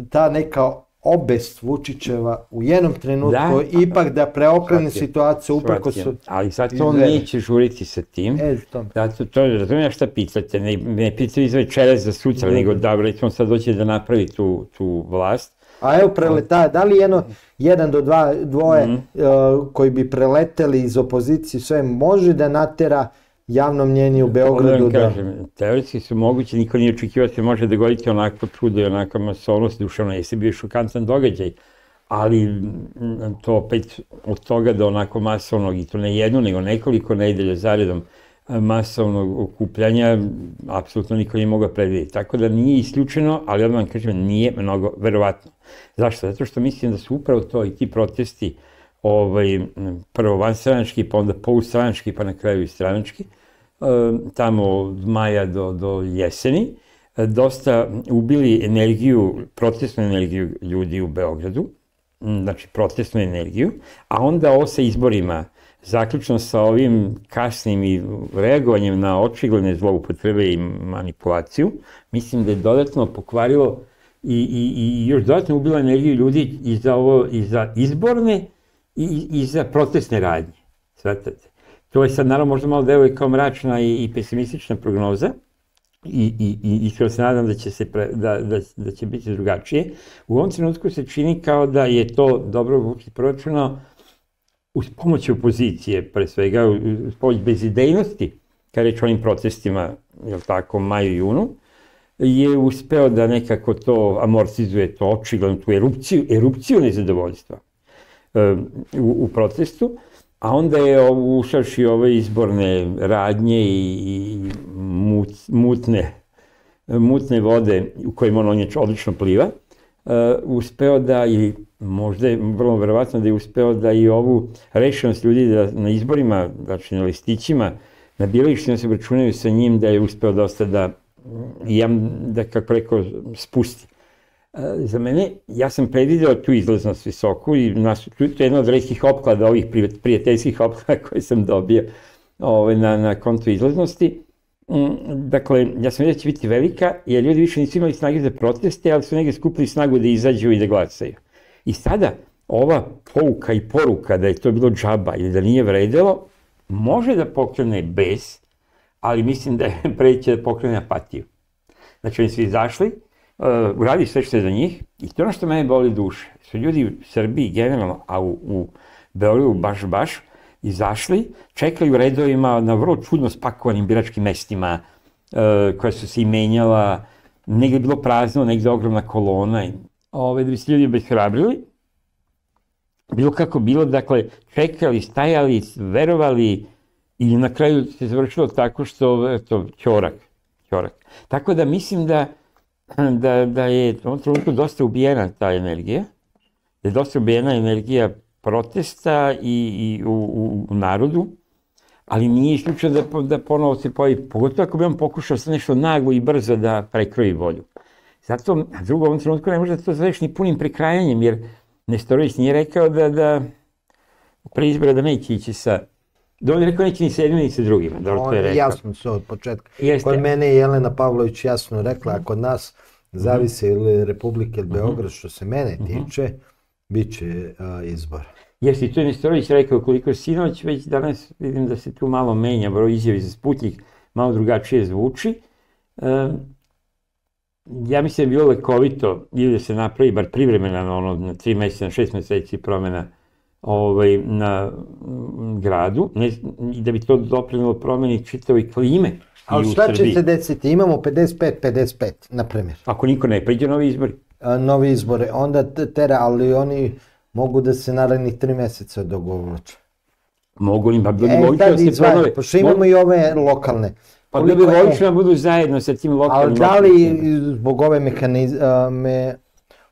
ta neka obest Vučićeva u jednom trenutku da, ipak da preokrene situaciju uprko su... Ali sad to neće žuriti sa tim. E, to. Zato to, razumijem šta pitate, ne, ne pitate iz večeras za sutra, nego da, recimo sad doće da napravi tu, tu vlast. A evo preleta, da li jedno, jedan do dva, dvoje mm. uh, koji bi preleteli iz opozicije, sve može da natera javno mnjenje u Beogradu da... Kažem, teoretski su moguće, niko nije očekivao da se može dogoditi onako čudo i onaka masovnost, duševno jeste bio šokantan događaj, ali to opet od toga do onako masovnog, i to ne jedno, nego nekoliko nedelja zaredom masovnog okupljanja, apsolutno niko nije mogao predvidjeti. Tako da nije isključeno, ali odmah vam kažem, nije mnogo verovatno. Zašto? Zato što mislim da su upravo to i ti protesti, ovaj, prvo vanstranački, pa onda polustranački, pa na kraju i stranački, tamo od maja do, do jeseni, dosta ubili energiju, protestnu energiju ljudi u Beogradu, znači protestnu energiju, a onda ovo sa izborima, zaključno sa ovim kasnim i reagovanjem na očigledne zloupotrebe i manipulaciju, mislim da je dodatno pokvarilo i, i, i još dodatno ubila energiju ljudi i za, ovo, i za izborne i, i za protestne radnje. Svatate. To je sad naravno možda malo deluje kao mračna i, i pesimistična prognoza i, i, i iskreno se nadam da će, se pre, da, da, da će biti drugačije. U ovom trenutku se čini kao da je to dobro Vučić proračunao uz pomoć opozicije, pre svega, uz pomoć bezidejnosti, kad reč o onim protestima, jel tako, maju i junu, je uspeo da nekako to amortizuje, to očigledno, tu erupciju, erupciju nezadovoljstva um, u, u protestu, a onda je ušavši ove izborne radnje i, i mut, mutne, mutne vode u kojima on odlično pliva, uh, uspeo da i možda je vrlo verovatno da je uspeo da i ovu rešenost ljudi da na izborima, znači na listićima, na biralištima se obračunaju sa njim, da je uspeo dosta da, da kako rekao, spusti. Za mene, ja sam predvideo tu izlaznost visoku i nas, to je jedna od retkih opklada, ovih prijateljskih opklada koje sam dobio ove, na, na kontu izlaznosti. Dakle, ja sam vidio da će biti velika, jer ljudi više nisu imali snage za proteste, ali su negdje skupili snagu da izađu i da glasaju. I sada, ova pouka i poruka da je to bilo džaba ili da nije vredelo, može da pokrene bes, ali mislim da je preće da pokrene apatiju. Znači, oni su izašli, uh, uradi sve što je za njih i to ono što mene boli duše. Su ljudi u Srbiji generalno, a u, u Beogradu baš baš, izašli, čekali u redovima na vrlo čudno spakovanim biračkim mestima, uh, koja su se i menjala, negdje je bilo prazno, negdje ogromna kolona. Ove, da bi se ljudi obeshrabrili, bilo kako bilo, dakle, čekali, stajali, verovali i na kraju se završilo tako što, eto, ćorak, ćorak. Tako da mislim da, da, da je u ovom trenutku dosta ubijena ta energija, da je dosta ubijena energija protesta i, i u, u, u narodu, ali nije isključeno da, da ponovo se pojavi, pogotovo ako bi on pokušao sa nešto naglo i brzo da prekroji volju. Zato, a drugo, u ovom trenutku ne može da to zoveš ni punim prekrajanjem, jer Nestorović nije rekao da, da pre izbora da neće ići sa, da on je rekao neće ni sa jednim ni sa drugima, dobro to je rekao. Jasno se od početka. Jeste. Kod mene je Jelena Pavlović jasno rekla, ako nas zavise ili Republike ili Beograd, što se mene tiče, bit će a, izbor. Jeste, to je Nestorović rekao, koliko sinoć, već danas vidim da se tu malo menja, broj izjavi za Sputnjik, malo drugačije zvuči. Um, Ja mislim da je bilo lekovito ili da se napravi bar privremena na ono, na tri mjeseca, na šest mjeseci promjena ovaj, na m, gradu, ne, i da bi to doprinilo promjeni čitavoj klime. Ali šta će se desiti? Imamo pedeset pet pedeset pet, na primjer. Ako niko ne priđe novi izbori? A, novi izbore, onda tera, ali oni mogu da se narednih tri mjeseca dogovlače. Mogu li, pa bilo bi logično da se ponove. Pošto imamo i ove lokalne. Pa da bi logično da budu zajedno sa tim lokalnim... Ali da li zbog ove mehaniz, me,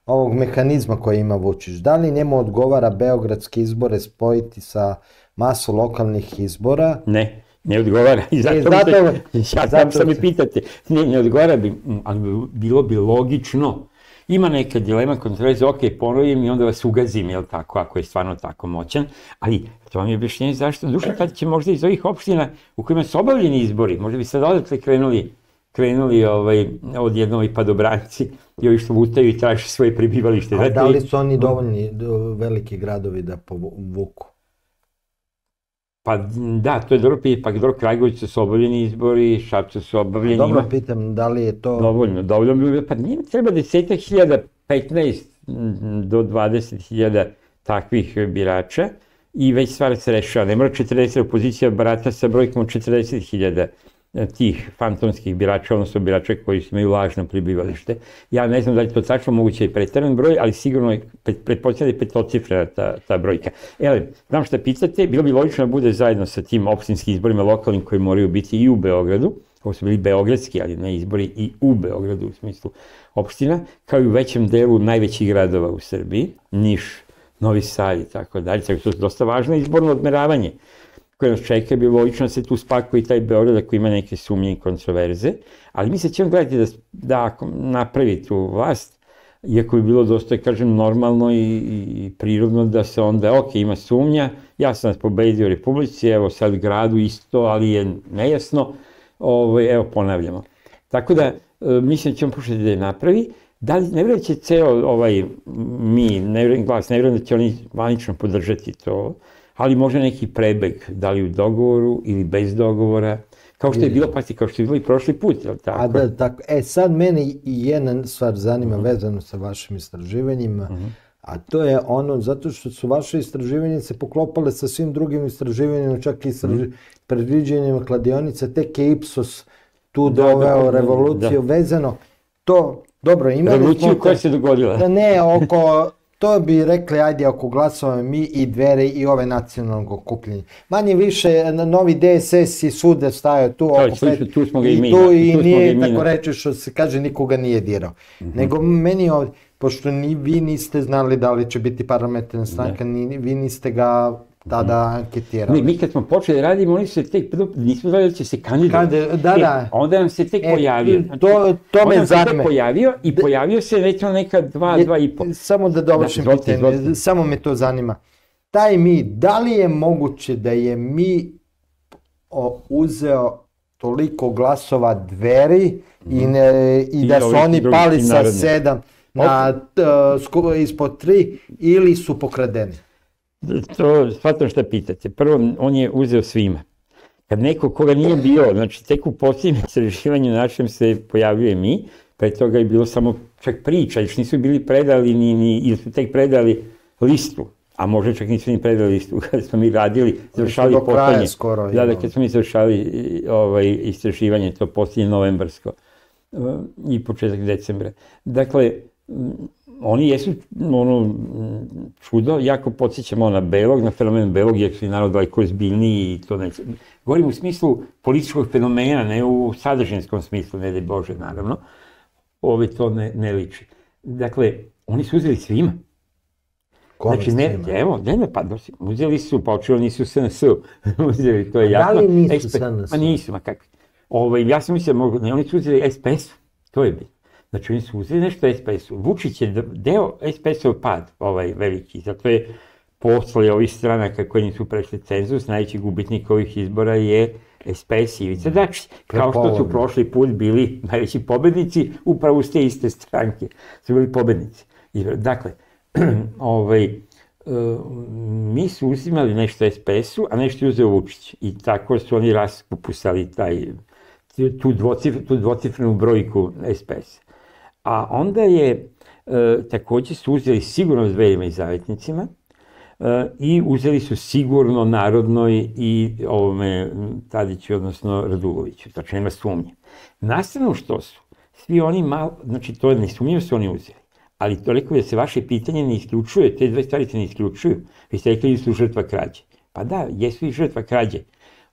ovog mehanizma koji ima Vučić, da li njemu odgovara beogradske izbore spojiti sa masu lokalnih izbora? Ne, ne odgovara. I zato, e, zato, se, ja zato što mi pitate. Ne, ne odgovara bi, ali bilo bi logično. Ima neka dilema, kontroverza, ok, ponovim i onda vas ugazim, jel tako, ako je stvarno tako moćan, ali to vam je objašnjenje zašto. Duša, tad će možda iz ovih opština u kojima su obavljeni izbori, možda bi sad odatle krenuli, krenuli ovaj, odjednom i padobranci i ovi što lutaju i traže svoje prebivalište. A da li su oni dovoljni veliki gradovi da povuku? Pa da, to je dobro pitanje, pa dobro, Kragujevcu su obavljeni izbori, Šapcu su obavljeni. Dobro pitam, da li je to... Dovoljno, dovoljno, pa nije treba desetak hiljada, petnaest do dvadeset hiljada takvih birača i već stvar se rešava. Ne mora četrdeset, opozicija barata sa brojkom od četrdeset hiljada tih fantomskih birača, odnosno birača koji imaju lažno prebivalište. Ja ne znam da li to tačno moguće i pretaran broj, ali sigurno je pretpostavljena petocifrena ta, ta brojka. Ele, znam šta pitate, bilo bi logično da bude zajedno sa tim opštinskim izborima lokalnim koji moraju biti i u Beogradu, ovo su bili beogradski, ali ne izbori, i u Beogradu u smislu opština, kao i u većem delu najvećih gradova u Srbiji, Niš, Novi Sad i tako dalje, tako to je dosta važno izborno odmeravanje koje nas čeka, je bilo logično da se tu spakuje i taj Beograd ako ima neke sumnje i kontroverze, ali mi se ćemo gledati da, da ako napravi tu vlast, iako bi bilo dosta, kažem, normalno i, i prirodno da se onda, ok, ima sumnja, ja sam nas pobedio u Republici, evo sad gradu isto, ali je nejasno, ovo, evo ponavljamo. Tako da, mislim da ćemo pokušati da je napravi. Da li, ne vjerujem da će ceo ovaj, mi, ne vjerujem glas, ne vjerujem da će oni zvanično podržati to, ali može neki prebeg, da li u dogovoru ili bez dogovora, kao što je bilo, pa kao što je bilo i prošli put, je li tako? A da, tako. E, sad mene i jedna stvar zanima uh-huh. vezano sa vašim istraživanjima, uh-huh. a to je ono, zato što su vaše istraživanje se poklopale sa svim drugim istraživanjima, čak i istraži, uh-huh. predviđanjima kladionice, tek je Ipsos tu da, doveo da, revoluciju da. vezano. To, dobro, imali revoluciju smo... koja se dogodila. Da ne, oko... To bi rekli, ajde, oko glasova mi i Dveri i ove nacionalnog okupljenja. Manje više, novi D S S i svuda stajao tu oko pet, tu smo ga i mi. I tu i nije, tako reći, što se kaže, nikoga nije dirao. Nego meni ovdje, pošto ni vi niste znali da li će biti parlamentarna stranka, ni vi niste ga tada anketirali. Mi kad smo počeli radimo, oni su se tek, nismo znali da će se kandidati. Da, da. Onda nam se tek pojavio. To me zanima. Onda nam se tek pojavio i pojavio se recimo neka dva, dva i po. Samo da dovršim pitanje, samo me to zanima. Taj mi, da li je moguće da je mi uzeo toliko glasova Dveri i da su oni pali sa sedam ispod tri ili su pokradeni? To, shvatam šta pitate. Prvo, on je uzeo svima. Kad neko koga nije bio, znači tek u posljednjem istraživanju našem se pojavljuje mi, pre toga je bilo samo čak priča, još nisu bili predali, ni, ni, ili su tek predali listu, a možda čak nisu ni predali listu, kada smo mi radili, završali posljednje. Skoro, da, da, kad smo mi završali ovaj, istraživanje, to posljednje novembarsko i početak decembra. Dakle, oni jesu ono, čudo, jako podsjećamo na Belog, na fenomen Belog, jer su i narod daleko ozbiljniji i to neće. Govorim u smislu političkog fenomena, ne u sadržinskom smislu, ne daj Bože, naravno. Ove to ne, ne liči. Dakle, oni su uzeli svima. Kome znači, ne, svima? Evo, ne, ne, pa uzeli su, pa očilo nisu S N S-u. uzeli, to je jasno. Da li nisu S N S-u? Ma nisu, ma kakvi. Ove, ja sam mislio, ne, oni su uzeli S P S-u, to je bitno. Znači, oni su uzeli nešto S P S-u. Vučić je deo S P S-ov pad, ovaj veliki, zato je posle ovih stranaka koji nisu prešli cenzus, najveći gubitnik ovih izbora je S P S i Ivica Dačić. Kao što su prošli put bili najveći pobednici, upravo s te iste stranke su bili pobednici. Dakle, ovaj, mi su uzimali nešto S P S-u, a nešto je uzeo Vučić. I tako su oni raskupusali taj, tu, dvocifr, tu dvocifrenu brojku S P S. A onda je, e, takođe su uzeli sigurno Dverima i Zavetnicima e, i uzeli su sigurno Narodnoj i ovome Tadiću, odnosno Raduloviću, znači nema sumnje. Nastavno što su, svi oni malo, znači to je nesumnjivo su oni uzeli, ali toliko da se vaše pitanje ne isključuje, te dve stvari se ne isključuju, vi ste rekli da su žrtva krađe. Pa da, jesu i žrtva krađe,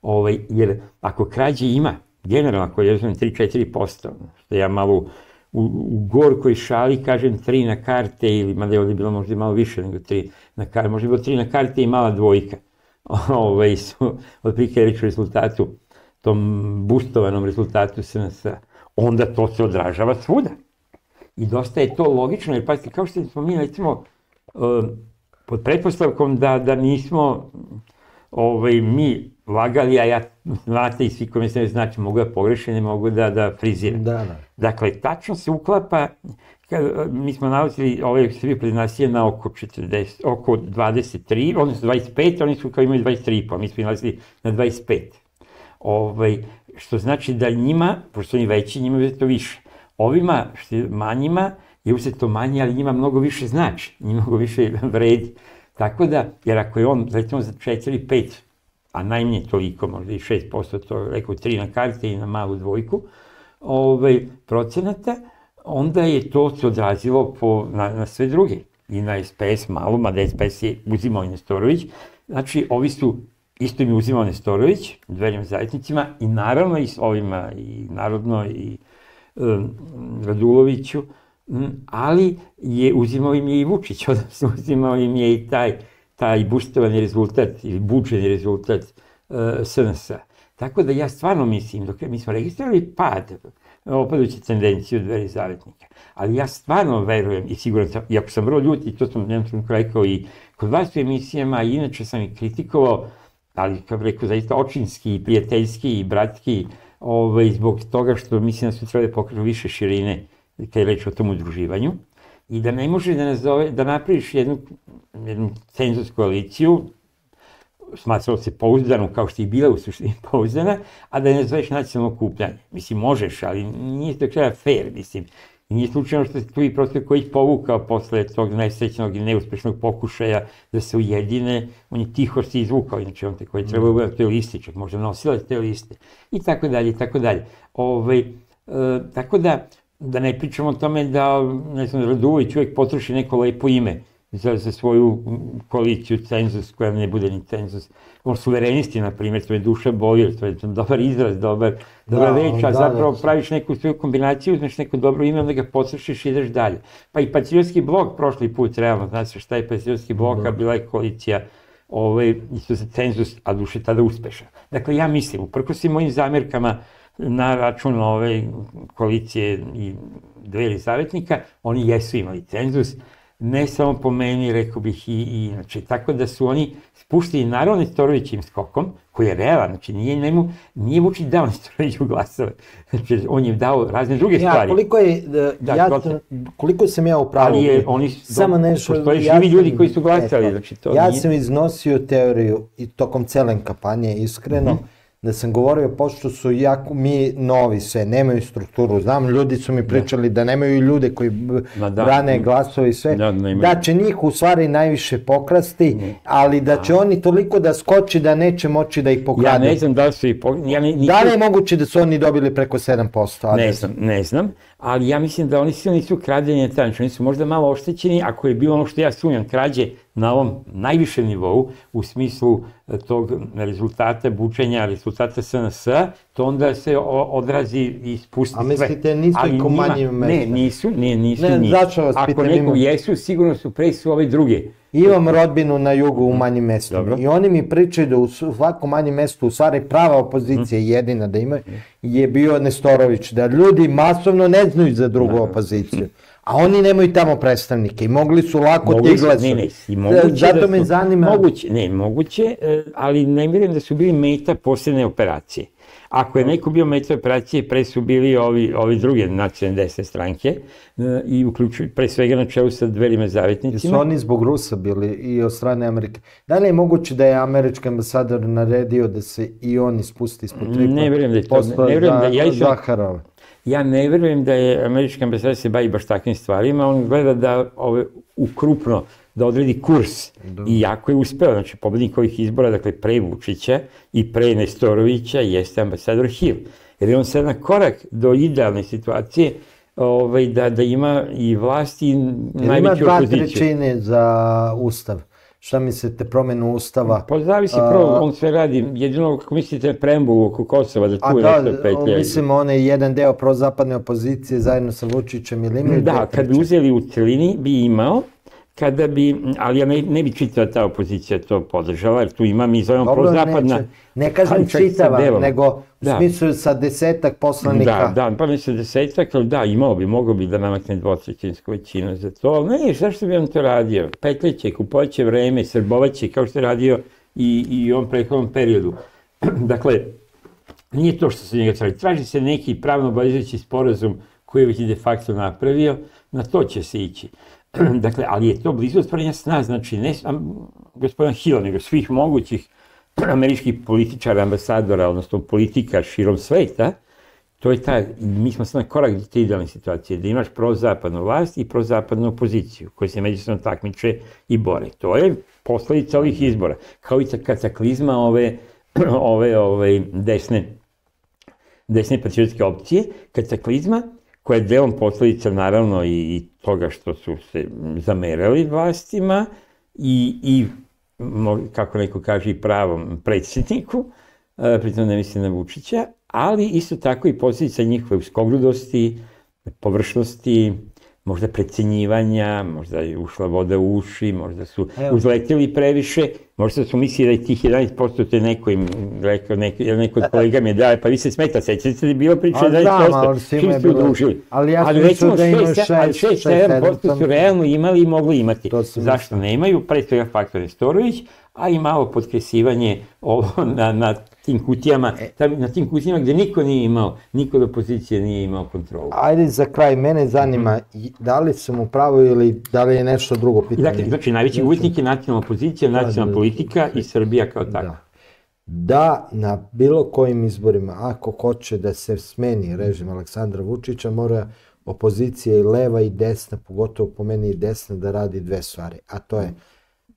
ovaj, jer ako krađe ima, generalno ako je tri do četiri posto, što ja malo u, u gorkoj šali kažem tri na karte, ili mada je ovdje bilo možda malo više nego tri na karte, možda je bilo tri na karte i mala dvojka. Ove su, otprilike reći o rezultatu, tom boostovanom rezultatu S N S-a, onda to se odražava svuda. I dosta je to logično, jer pazite, kao što smo mi, recimo, pod pretpostavkom da, da nismo ovaj, mi lagali, a ja, znate i svi koji se ne znači, mogu da pogreše, ne mogu da, da friziram. Da, da. Dakle, tačno se uklapa, kad, mi smo nalazili ove Srbije pred nas je na oko, četrdeset, oko dvadeset tri, oni su dvadeset pet, oni su kao imaju dvadeset tri i po, mi smo nalazili na dvadeset pet. Ovaj, što znači da njima, pošto oni veći, njima je to više. Ovima, što je manjima, je uzeto manje, ali njima mnogo više znači, njima mnogo više vredi. Tako da, jer ako je on, recimo za četiri pet, a najmanje toliko, možda i šest posto, to rekao tri na karte i na malu dvojku, ovaj, procenata, onda je to se odrazilo po, na, na sve druge. I na S P S malo, mada S P S je uzimao i Nestorović. Znači, ovi su, isto im je uzimao Nestorović, dverima zavetnicima, i naravno i s ovima, i Narodno, i um, Raduloviću, um, ali je uzimao im je i Vučić, odnosno uzimao im je i taj, taj bustovani rezultat, ili bučeni rezultat uh, S N S-a. Tako da ja stvarno mislim, dok mi smo registrirali pad, opaduću tendenciju dveri zavetnika, ali ja stvarno verujem i siguran sam, iako sam vrlo ljut, i to sam jednom trenutku rekao i kod vas u emisijama, i inače sam i kritikovao, ali kao rekao zaista očinski, prijateljski i bratski, ovaj, zbog toga što mislim da su trebali pokažu više širine kad je reč o tom udruživanju, i da ne može da nazove, da napraviš jednu, jednu cenzus koaliciju, smatralo se pouzdanu, kao što je bila u suštini pouzdana, a da ne nazoveš nacionalno okupljanje. Mislim, možeš, ali nije to kraja fair, mislim. I nije slučajno što se tu i prostor koji ih povukao posle tog nesrećnog i neuspešnog pokušaja da se ujedine, on je tiho se izvukao, inače on te koji je trebao da te listi, čak možda nosila te liste, i tako dalje, i tako dalje. Ovaj, e, tako da, da ne pričamo o tome da, ne znam, Radulović uvek potroši neko lepo ime za, za svoju koaliciju, cenzus, koja ne bude ni cenzus. On suverenisti, na primjer, to je duša boli, to je dobar izraz, dobar, dobra Da, reč, a da, zapravo da. praviš neku svoju kombinaciju, uzmeš neko dobro ime, onda ga potrošiš i ideš dalje. Pa i Patriotski blok prošli put, realno, znaš se šta je Patriotski blok, a bila je koalicija, ovaj, isto za cenzus, a duše tada uspešan. Dakle, ja mislim, uprkos svim mojim zamerkama na račun ove koalicije i dveri zavetnika, oni jesu imali cenzus, ne samo po meni, rekao bih i, i inače, tako da su oni spuštili naravno Nestorovićim skokom, koji je realan, znači nije, njemu, nije Vučić dao Nestoroviću glasove, znači on je dao razne druge Ja, stvari. koliko je, da, Da, ja, protiv. koliko sam ja u pravu, Ali je, oni, samo nešto, postoje ja živi sam- ljudi koji su glasali, e, znači to ja nije... sam iznosio teoriju i tokom cele kampanje, iskreno, Mhm. da sam govorio, pošto su jako, mi novi sve, nemaju strukturu, znam, ljudi su mi pričali da nemaju ljude koji b- Ma da. brane glasove i sve, Da, nemaju. da će njih u stvari najviše pokrasti, ali da će oni toliko da skoči da neće moći da ih Ja pokradu. ne znam da li su i... po- Ja ne, nisam- Da li je moguće da su oni dobili preko sedam posto? a Ne da- znam, ne znam, ali ja mislim da oni svi nisu krađenje taj, znači oni su možda malo oštećeni, ako je bilo ono što ja sumnjam, krađe na ovom najvišem nivou, u smislu e, tog rezultata bučenja, rezultata S N S-a, to onda se o- odrazi i spusti A sve. mislite, nisu Ali i ko njima- manjim Ne, mestima? nisu, ne, nisu Ne, njih. zašto vas Ako pitam, neko imam- jesu, sigurno su pre su ove druge. Imam rodbinu na jugu u manjim mestima Dobro. i oni mi pričaju da u svakom manjem mestu, u stvari prava opozicija jedina da imaju, je bio Nestorović, da ljudi masovno ne znaju za drugu opoziciju, a oni nemaju tamo predstavnike i mogli su lako Mogli ti su- glasovi. Ne, ne, i moguće Zato da me su- zanima... Moguće, ne, moguće, e, ali ne vjerujem da su bili meta posebne operacije. Ako je neko bio meta operacije, pre su bili ovi, ovi druge nacionalne desne stranke e, i uključuju pre svega na čelu sa dverima Su zavetnicima. oni zbog Rusa bili i od strane Amerike. Da li je moguće da je američki ambasador naredio da se i oni spusti ispod tri? Ne vjerujem da je to- posla ne vjerujem da- za- ja iskreno- Zaharova. Ja ne vjerujem da je američki ambasador se bavi baš takvim stvarima, on gleda da ove, ukrupno, da odredi kurs. I jako je uspeo, znači pobednik ovih izbora, dakle pre Vučića i pre Nestorovića jeste ambasador Hill. Jer je on sad na korak do idealne situacije ovaj, da, da ima i vlast i Jer ima najveću dva opoziciju. trećine za ustav. Šta mislite, promenu ustava? Pa zavisi, A- prvo, on sve radi, jedino kako mislite preambulu oko Kosova, da A tu da, nešto petlja. mislim, onaj jedan deo prozapadne opozicije zajedno sa Vučićem ili imaju Da, dve kad bi trećine? uzeli u celini bi imao, kada bi, ali ja ne, ne bi čitao da ta opozicija to podržala, jer tu ima, mi zovemo Dobro, prozapadna. neće. Ne kažem ali čak sa čitava, delom. nego u Da. smislu sa desetak poslanika. Da, da, pa mislim desetak, ali da, imao bi, mogao bi da namakne dvotrećinsku većinu za to, ali ne, zašto bi on to radio? Petljeće, kupovaće vreme, srbovaće, kao što je radio i, i u ovom prethodnom periodu. Dakle, nije to što se njega traži. Traži se neki pravno obavezujući sporazum koji je već de facto napravio, na to će se ići. Dakle, ali je to blizu ostvarenja sna, znači ne sam gospodina Hilla, nego svih mogućih američkih političara, ambasadora, odnosno politika širom sveta. To je ta, mi smo sad na korak do te idealne situacije, da imaš prozapadnu vlast i prozapadnu opoziciju, koji se međusobno takmiče i bore. To je posledica ovih izbora, kao i kataklizma ove ove, ove desne, desne patriotske opcije, kataklizma, koja je delom posledica naravno i, i toga što su se zamerali vlastima i, i kako neko kaže, i pravom predsjedniku, pritom ne mislim na Vučića, ali isto tako i posljedica njihove uskogrudosti, površnosti, možda precenjivanja, možda je ušla voda u uši, možda su uzleteli previše, možda su mislili da je tih jedanaest posto to je neko im rekao, neko, neko od kolega mi je dao, pa vi se smeta, sećate se da je bilo priča jedanaest posto, čim ste udružili. Ali ja sam mislio da imaju šest sedam posto su realno imali i mogli imati. Zašto ne imaju? Pre svega faktor Nestorović, a i malo podkresivanje na, na tim kutijama, na tim kutijama gde niko nije imao, niko od opozicije nije imao kontrolu. Ajde za kraj, mene zanima da li sam u pravu ili da li je nešto drugo pitanje. Dakle, znači najveći gubitnik je nacionalna opozicija, nacionalna politika i Srbija kao tako. Da na bilo kojim izborima, ako hoće da se smeni režim Aleksandra Vučića, mora opozicija i leva i desna, pogotovo po meni i desna, da radi dve stvari, a to je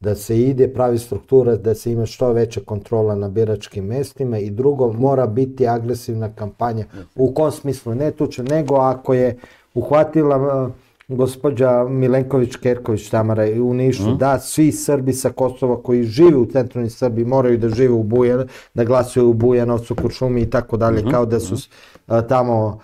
da se ide, pravi struktura, da se ima što veća kontrola na biračkim mestima i drugo, mora biti agresivna kampanja. U kom smislu? Ne tuče, nego ako je uhvatila gospođa Milenković-Kerković Tamara u Nišu, da svi Srbi sa Kosova koji žive u centralnoj Srbiji moraju da žive u Bujanovcu, da glasuju u Bujanovcu, Kuršumi i tako dalje, kao da su tamo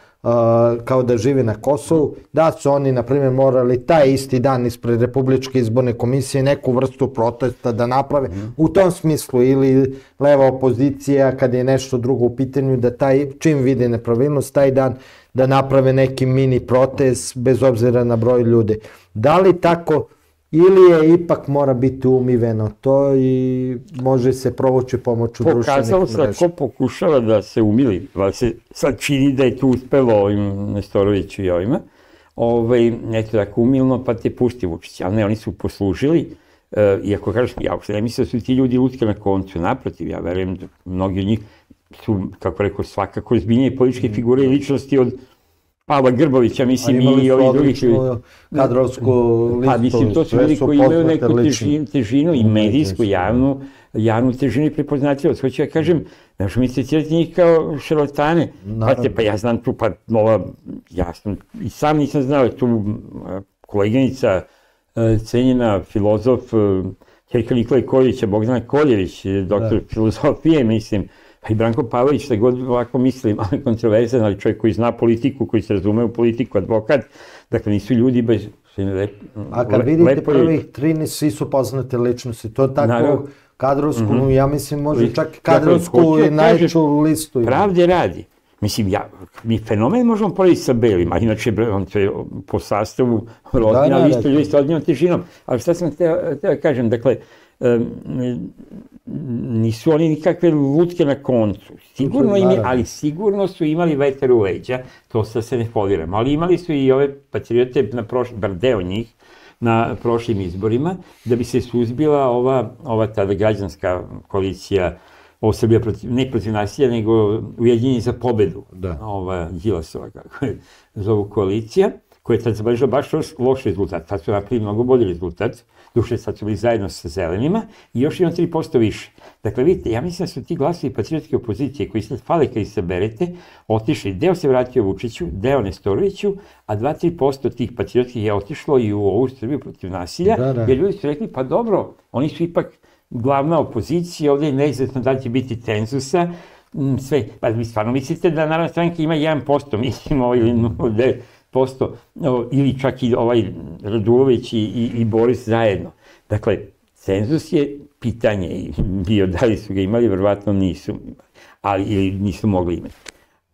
kao da žive na Kosovu, da su oni, na primjer, morali taj isti dan ispred Republičke izborne komisije neku vrstu protesta da naprave. U tom smislu, ili leva opozicija, kad je nešto drugo u pitanju, da taj, čim vide nepravilnost, taj dan da naprave neki mini protest, bez obzira na broj ljudi. Da li tako, ili je ipak mora biti umiveno to i može se provući pomoću društvenih mreža? Pokazalo se ko pokušava da se umili, ali se sad čini da je tu uspelo ovim Nestoroviću i ovima, eto tako umilno, pa te pusti Vučić, ali ne, oni su poslužili, iako kažeš, ja uopšte ne mislim da su ti ljudi lutke na koncu, naprotiv, ja verujem da mnogi od njih su, kako rekao, svakako zbiljnije političke figure i ličnosti od Pavla Grbovića, mislim, i ovih drugih ljudi. Imali su kadrovsku listu. Pa, mislim, to su ljudi koji imaju neku težinu i medijsku, javnu, javnu težinu i prepoznatljivost. Hoću ja kažem, ne možemo misliti njih kao šarlatane. Pa ja znam tu, pa ova, ja sam, i sam nisam znao, tu koleginica, cenjena filozof, ćerka Nikole Koljevića, Bogdana Koljević, doktor filozofije, mislim, pa i Branko Pavlović, šta god ovako mislim, ali kontroverzan, ali čovjek koji zna politiku, koji se razume u politiku, advokat, dakle nisu ljudi bez... A kad vidite prvih tri, svi su poznate ličnosti, to tako kadrovsku, ja mislim može čak kadrovsku i najveću listu. Pravde radi. Mislim, mi fenomen možemo porediti sa Belim, a inače on je po sastavu rodnja listu ljudi sa odnjom težinom. Ali šta sam htio da kažem, dakle, nisu oni nikakve lutke na koncu, sigurno im je, ali sigurno su imali vetar u leđa, to sad se ne foliram, ali imali su i ove patriote, bar deo njih, na prošlim izborima, da bi se suzbila ova tada građanska koalicija, ovo Srbija ne protiv nasilja, nego Ujedinjeni za pobedu, ova Đilasova, kako je zovu koalicija, koja je tad zabeležila baš loš rezultat, tad su napravili mnogo bolji rezultat, duše sad su bili zajedno sa zelenima i još imam tri posto više. Dakle, vidite, ja mislim da su ti glasovi patriotske opozicije koji sad fale kad ih saberete, otišli, deo se vratio Vučiću, deo Nestoroviću, a dva do tri posto tih patriotskih je otišlo i u ovu Srbiju protiv nasilja, jer ljudi su rekli, pa dobro, oni su ipak glavna opozicija, ovdje je neizvesno da će biti cenzusa, sve, pa vi stvarno mislite da Narodna stranka ima jedan posto, mislimo, ili nula devet posto, ili čak i ovaj Radulović i Boris zajedno. Dakle, cenzus je pitanje i bio da li su ga imali, verovatno nisu, ili nisu mogli imati.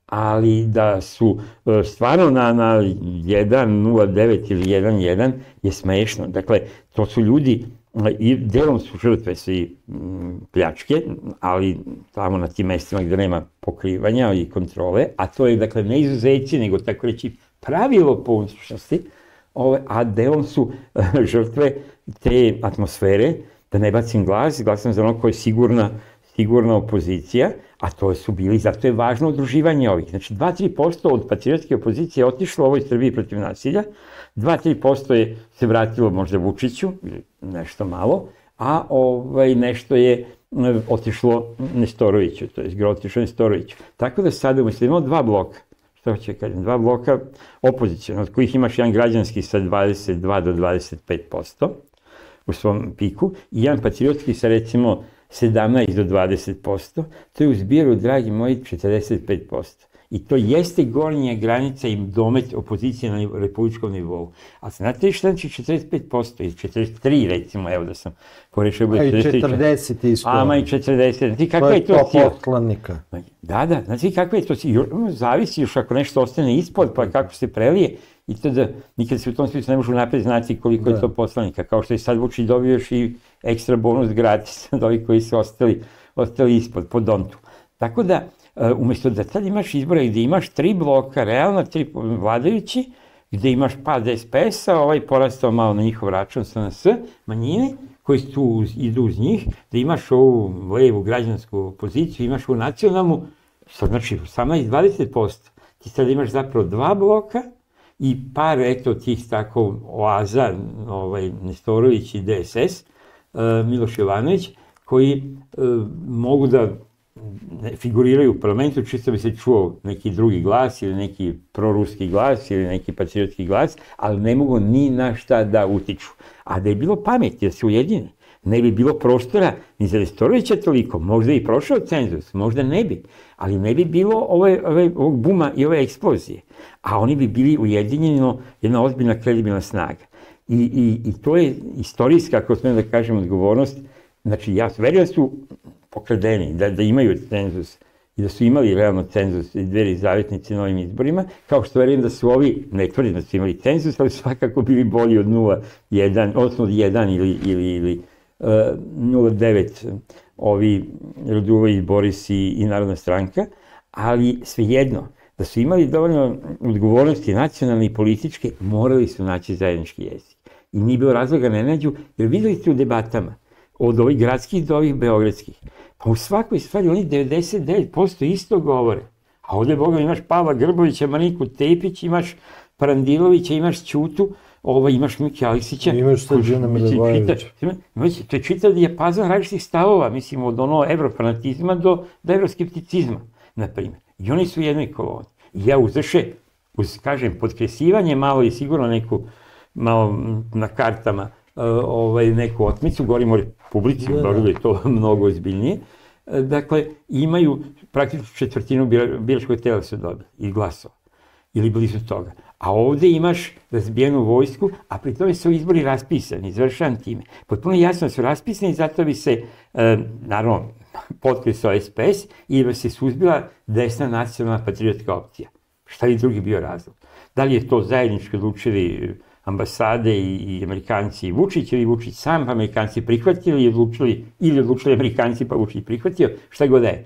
Ali da su stvarno na jedan nula devet ili jedan jedan je smešno. Dakle, to su ljudi, i delom su žrtve svi pljačke, ali tamo na tim mestima gde nema pokrivanja i kontrole, a to je, dakle, ne izuzeći, nego tako reći pravilo po unutrašnjosti, a delom su žrtve te atmosfere, da ne bacim glas, glasam za ono koja je sigurna, sigurna opozicija, a to su bili, zato je važno udruživanje ovih. Znači, dva do tri posto od patriotske opozicije je otišlo u ovoj Srbiji protiv nasilja, dva do tri posto je se vratilo možda Vučiću, nešto malo, a nešto je otišlo Nestoroviću, to je gro otišlo Nestoroviću. Tako da sada umjesto imamo dva bloka, što hoće kažem, dva bloka opozicijona, od kojih imaš jedan građanski sa dvadeset dva do dvadeset pet posto u svom piku i jedan patriotski sa recimo sedamnaest do dvadeset posto, to je u zbiru, dragi moji, četrdeset pet posto. I to jeste gornja granica i domet opozicije na republičkom nivou. A znate li šta znači četrdeset pet posto ili četrdeset tri recimo, evo da sam porešao... A i četrdeset isto. Ama i četrdeset. Znači kakva je to sila? To je to poslanika. Da, da, znači kakva je to sila? Zavisi još ako nešto ostane ispod, pa kako se prelije. I to da nikad se u tom smislu ne možu napred znati koliko je to poslanika. Kao što je sad Vučić dobio još i ekstra bonus gratis od ovih koji su ostali, ostali ispod, po dontu. Tako da, umjesto da tad imaš izbore gdje imaš tri bloka, realno tri vladajući, gdje imaš pad es pe es-a, ovaj porastao malo na njihov račun es en es, manjine, koji tu idu uz njih, da imaš ovu levu građansku poziciju, imaš ovu nacionalnu, što znači osamnaest do dvadeset posto. Ti sad imaš zapravo dva bloka i par, eto, tih tako oaza, ovaj, Nestorović i de es es, Miloš Jovanović, koji mogu da figuriraju u parlamentu, čisto bi se čuo neki drugi glas ili neki proruski glas ili neki patriotski glas, ali ne mogu ni na šta da utiču. A da je bilo pameti da se ujedine, ne bi bilo prostora ni za Nestorovića toliko, možda i prošao cenzus, možda ne bi, ali ne bi bilo ove, ove, ovog buma i ove eksplozije. A oni bi bili ujedinjeno jedna ozbiljna kredibilna snaga. I, i, i to je istorijska, ako smijem da kažem, odgovornost. Znači, ja verujem da su pokradeni, da, da imaju cenzus i da su imali realno cenzus i dveri zavetnici na ovim izborima, kao što verujem da su ovi, ne tvrdim da su imali cenzus, ali svakako bili bolji od nula jedan, odnosno od jedan ili, ili, ili uh, nula devet ovi Radulović, Boris i, i Narodna stranka, ali svejedno, da su imali dovoljno odgovornosti nacionalne i političke, morali su naći zajednički jezik. I nije bilo razloga ne nađu, jer videli ste u debatama, od ovih gradskih do ovih beogradskih. Pa u svakoj stvari oni devedeset devet posto isto govore. A ovdje, Boga, imaš Pavla Grbovića, Mariku Tepić, imaš Parandilovića, imaš Ćutu, ovaj, imaš Miki Aleksića. Imaš Srđana Milivojevića. To je čitav dijapazon različitih stavova, mislim, od ono evrofanatizma do, do evroskepticizma, na primjer. I oni su u jednoj koloni. I ja uzreše, uz, kažem, podkresivanje malo i sigurno neku, malo na kartama, ovaj, neku otmicu, govorimo o Republici, govorimo je to mnogo ozbiljnije. Dakle, imaju praktično četvrtinu biračkog tela su dobili i glasova, ili blizu toga. A ovdje imaš razbijenu vojsku, a pri tome su izbori raspisani, izvršavam time. Potpuno jasno su raspisani, zato bi se, e, naravno, potkresao es pe es i bi se suzbila desna nacionalna patriotska opcija. Šta je drugi bio razlog? Da li je to zajednički odlučili ambasade i, i Amerikanci i Vučić, ili Vučić sam, pa Amerikanci prihvatili, ili odlučili, ili odlučili Amerikanci, pa Vučić prihvatio, šta god je.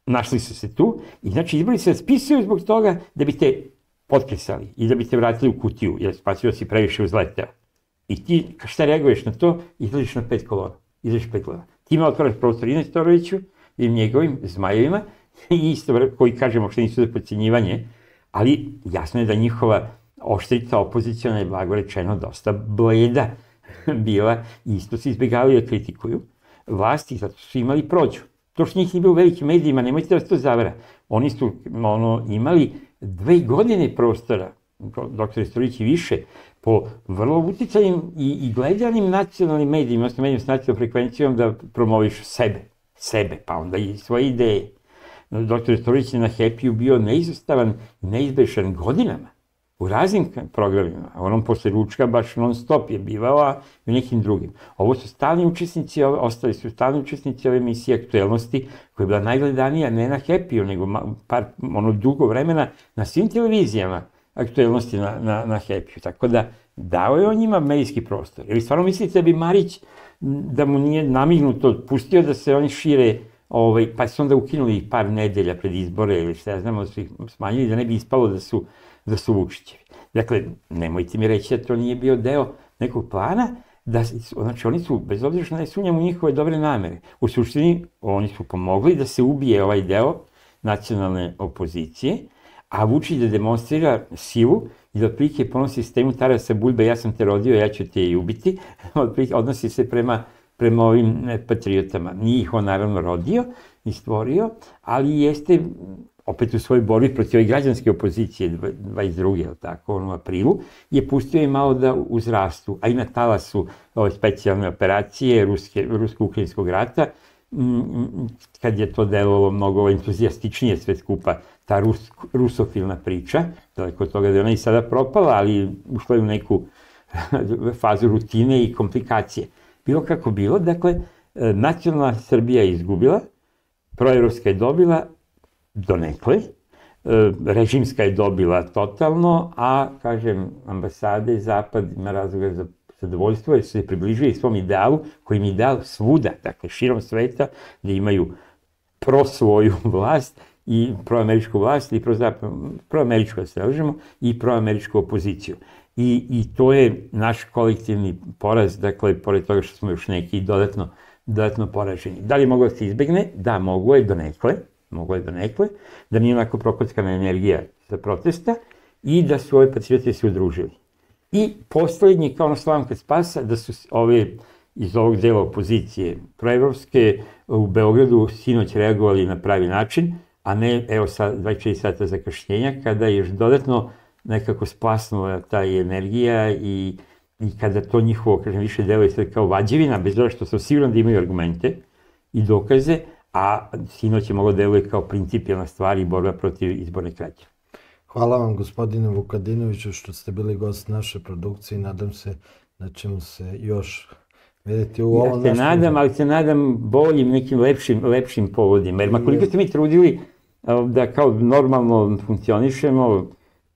Našli su se tu i znači izbori se raspisuju zbog toga da bi te potkresali i da bi te vratili u kutiju, jer spasio si previše uzleteo. I ti, šta reaguješ na to, izlaziš na pet kolona. Izlaziš pet kolona. Ti ima otvaraš prostor i Nestoroviću i njegovim zmajevima, i isto koji kažemo što nisu za podcjenjivanje, ali jasno je da njihova oštrica opozicijona je, blago rečeno, dosta bleda bila i isto se izbjegavali da kritikuju vlasti, zato su imali prođu. To što njih nije bilo u velikim medijima, nemojte da vas to zavara. Oni su ono, imali dve godine prostora, doktor Nestorović i više, po vrlo uticajnim i, i gledanim nacionalnim medijima, odnosno medijima s nacionalnom frekvencijom da promoviš sebe, sebe, pa onda i svoje ideje. Doktor Nestorović je na Happy-u bio neizostavan, neizbešan godinama u raznim programima. Onom posle ručka baš non stop je bivao, a i nekim drugim. Ovo su stalni učesnici, ostali su stalni učesnici ove emisije Aktuelnosti, koja je bila najgledanija ne na Happy-u, nego par, ono, dugo vremena na svim televizijama Aktuelnosti na, na, na Happy-u. Tako da dao je on njima medijski prostor. Ili stvarno mislite da bi Marić, da mu nije namignuto, pustio da se oni šire, ovaj, pa su onda ukinuli par nedelja pred izbore ili šta ja znamo, da su ih smanjili da ne bi ispalo da su da su Vučićevi. Dakle, nemojte mi reći da to nije bio deo nekog plana, da, znači oni su, bez obzira što ne sumnjam u njihove dobre namere, u suštini oni su pomogli da se ubije ovaj deo nacionalne opozicije, a Vučić da demonstrira silu i da otprilike po onom sistemu Tarasa Bulbe, ja sam te rodio, ja ću te i ubiti, otprilike odnosi se prema prema ovim patriotama. Nije ih on naravno rodio i stvorio, ali jeste opet u svojoj borbi protiv ove građanske opozicije dvadeset druge tako, u aprilu, je pustio i malo da uzrastu, a i na talasu ove specijalne operacije rusko-ukrajinskog rata, kad je to delovalo mnogo entuzijastičnije sve skupa, ta rusofilna priča, daleko od toga da je ona i sada propala, ali ušla je u neku fazu rutine i komplikacije. Bilo kako bilo, dakle, nacionalna Srbija je izgubila, proevropska je dobila donekle, režimska je dobila totalno, a, kažem, ambasade Zapad ima razloga za zadovoljstvo jer su se približili svom idealu, koji im je ideal svuda, dakle, širom sveta, da imaju pro svoju vlast i proameričku vlast, ili proameričku, da se lažemo, i proameričku opoziciju. I, i to je naš kolektivni poraz, dakle, pored toga što smo još neki dodatno, dodatno poraženi. Da li je moglo da se izbegne? Da, moglo je donekle, moglo je donekle, da nije onako prokockana energija za protesta i da su ove patriote se udružili. I poslednji, kao na slamka spasa, da su ove iz ovog dela opozicije proevropske u Beogradu sinoć reagovali na pravi način, a ne, evo, sa dvadeset četiri sata zakašnjenja, kada je još dodatno nekako splasnula ta energija i, i kada to njihovo, kažem, više deluje sad kao vađevina, bez toga što sam siguran da imaju argumente i dokaze, a sinoć je moglo deluje kao principijalna stvar i borba protiv izborne krađe. Hvala vam, gospodine Vukadinoviću, što ste bili gost naše produkcije i nadam se da ćemo se još vidjeti u ovom našem... Ja se nadam, ali se nadam boljim, nekim lepšim, lepšim povodima. Jer makoliko ste mi trudili da kao normalno funkcionišemo,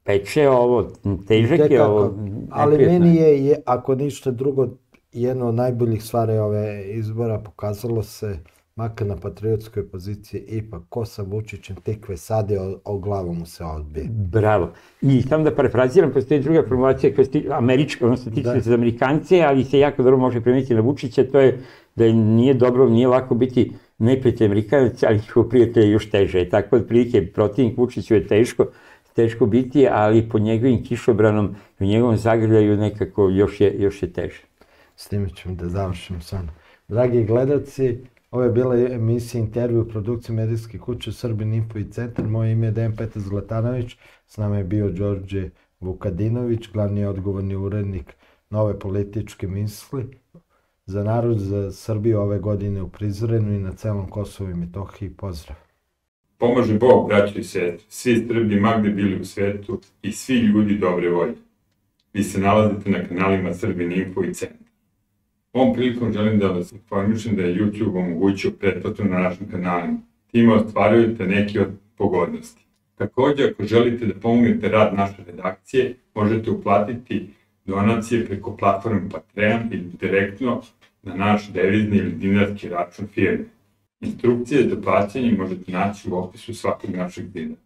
peče ovo, težak je ovo... Ali meni je, ako ništa drugo, jedno od najboljih stvari ove izbora pokazalo se, makar na patriotskoj poziciji, ipak ko sa Vučićem tikve sade, o glavu mu se odbije. Bravo. I samo da parafraziram, postoji druga formulacija koja je američka, odnosno tiče se za Amerikance, ali se jako dobro može primetiti na Vučića, to je da nije dobro, nije lako biti neprijatelj Amerikanaca, ali njihov prijatelj je još teže. Tako otprilike protivnik Vučiću je teško, teško biti, ali pod njegovim kišobranom i u njegovom zagrljaju nekako još je, još je teže. S time ćemo da završimo samo. Dragi gledalci, ovo je bila emisija intervju u produkciji medijske kuće Srbin Info i Centar. Moje ime je Dejan Petar Zlatanović, s nama je bio Đorđe Vukadinović, glavni odgovorni urednik Nove političke misli. Za narod, za Srbiju ove godine u Prizrenu i na celom Kosovu i Metohiji. Pozdrav! Pomaže Bog, braći i sestre, svi Srbi magde bili u svetu i svi ljudi dobre volje. Vi se nalazite na kanalima Srbin Info i Centar. Ovom prilikom želim da vas informišem da je YouTube omogućio pretplatu na našim kanalima. Time ostvarujete neke od pogodnosti. Također, ako želite da pomognete rad naše redakcije, možete uplatiti donacije preko platforme Patreon ili direktno na naš devizni ili dinarski račun firme. Instrukcije za plaćanje možete naći u opisu svakog našeg videa.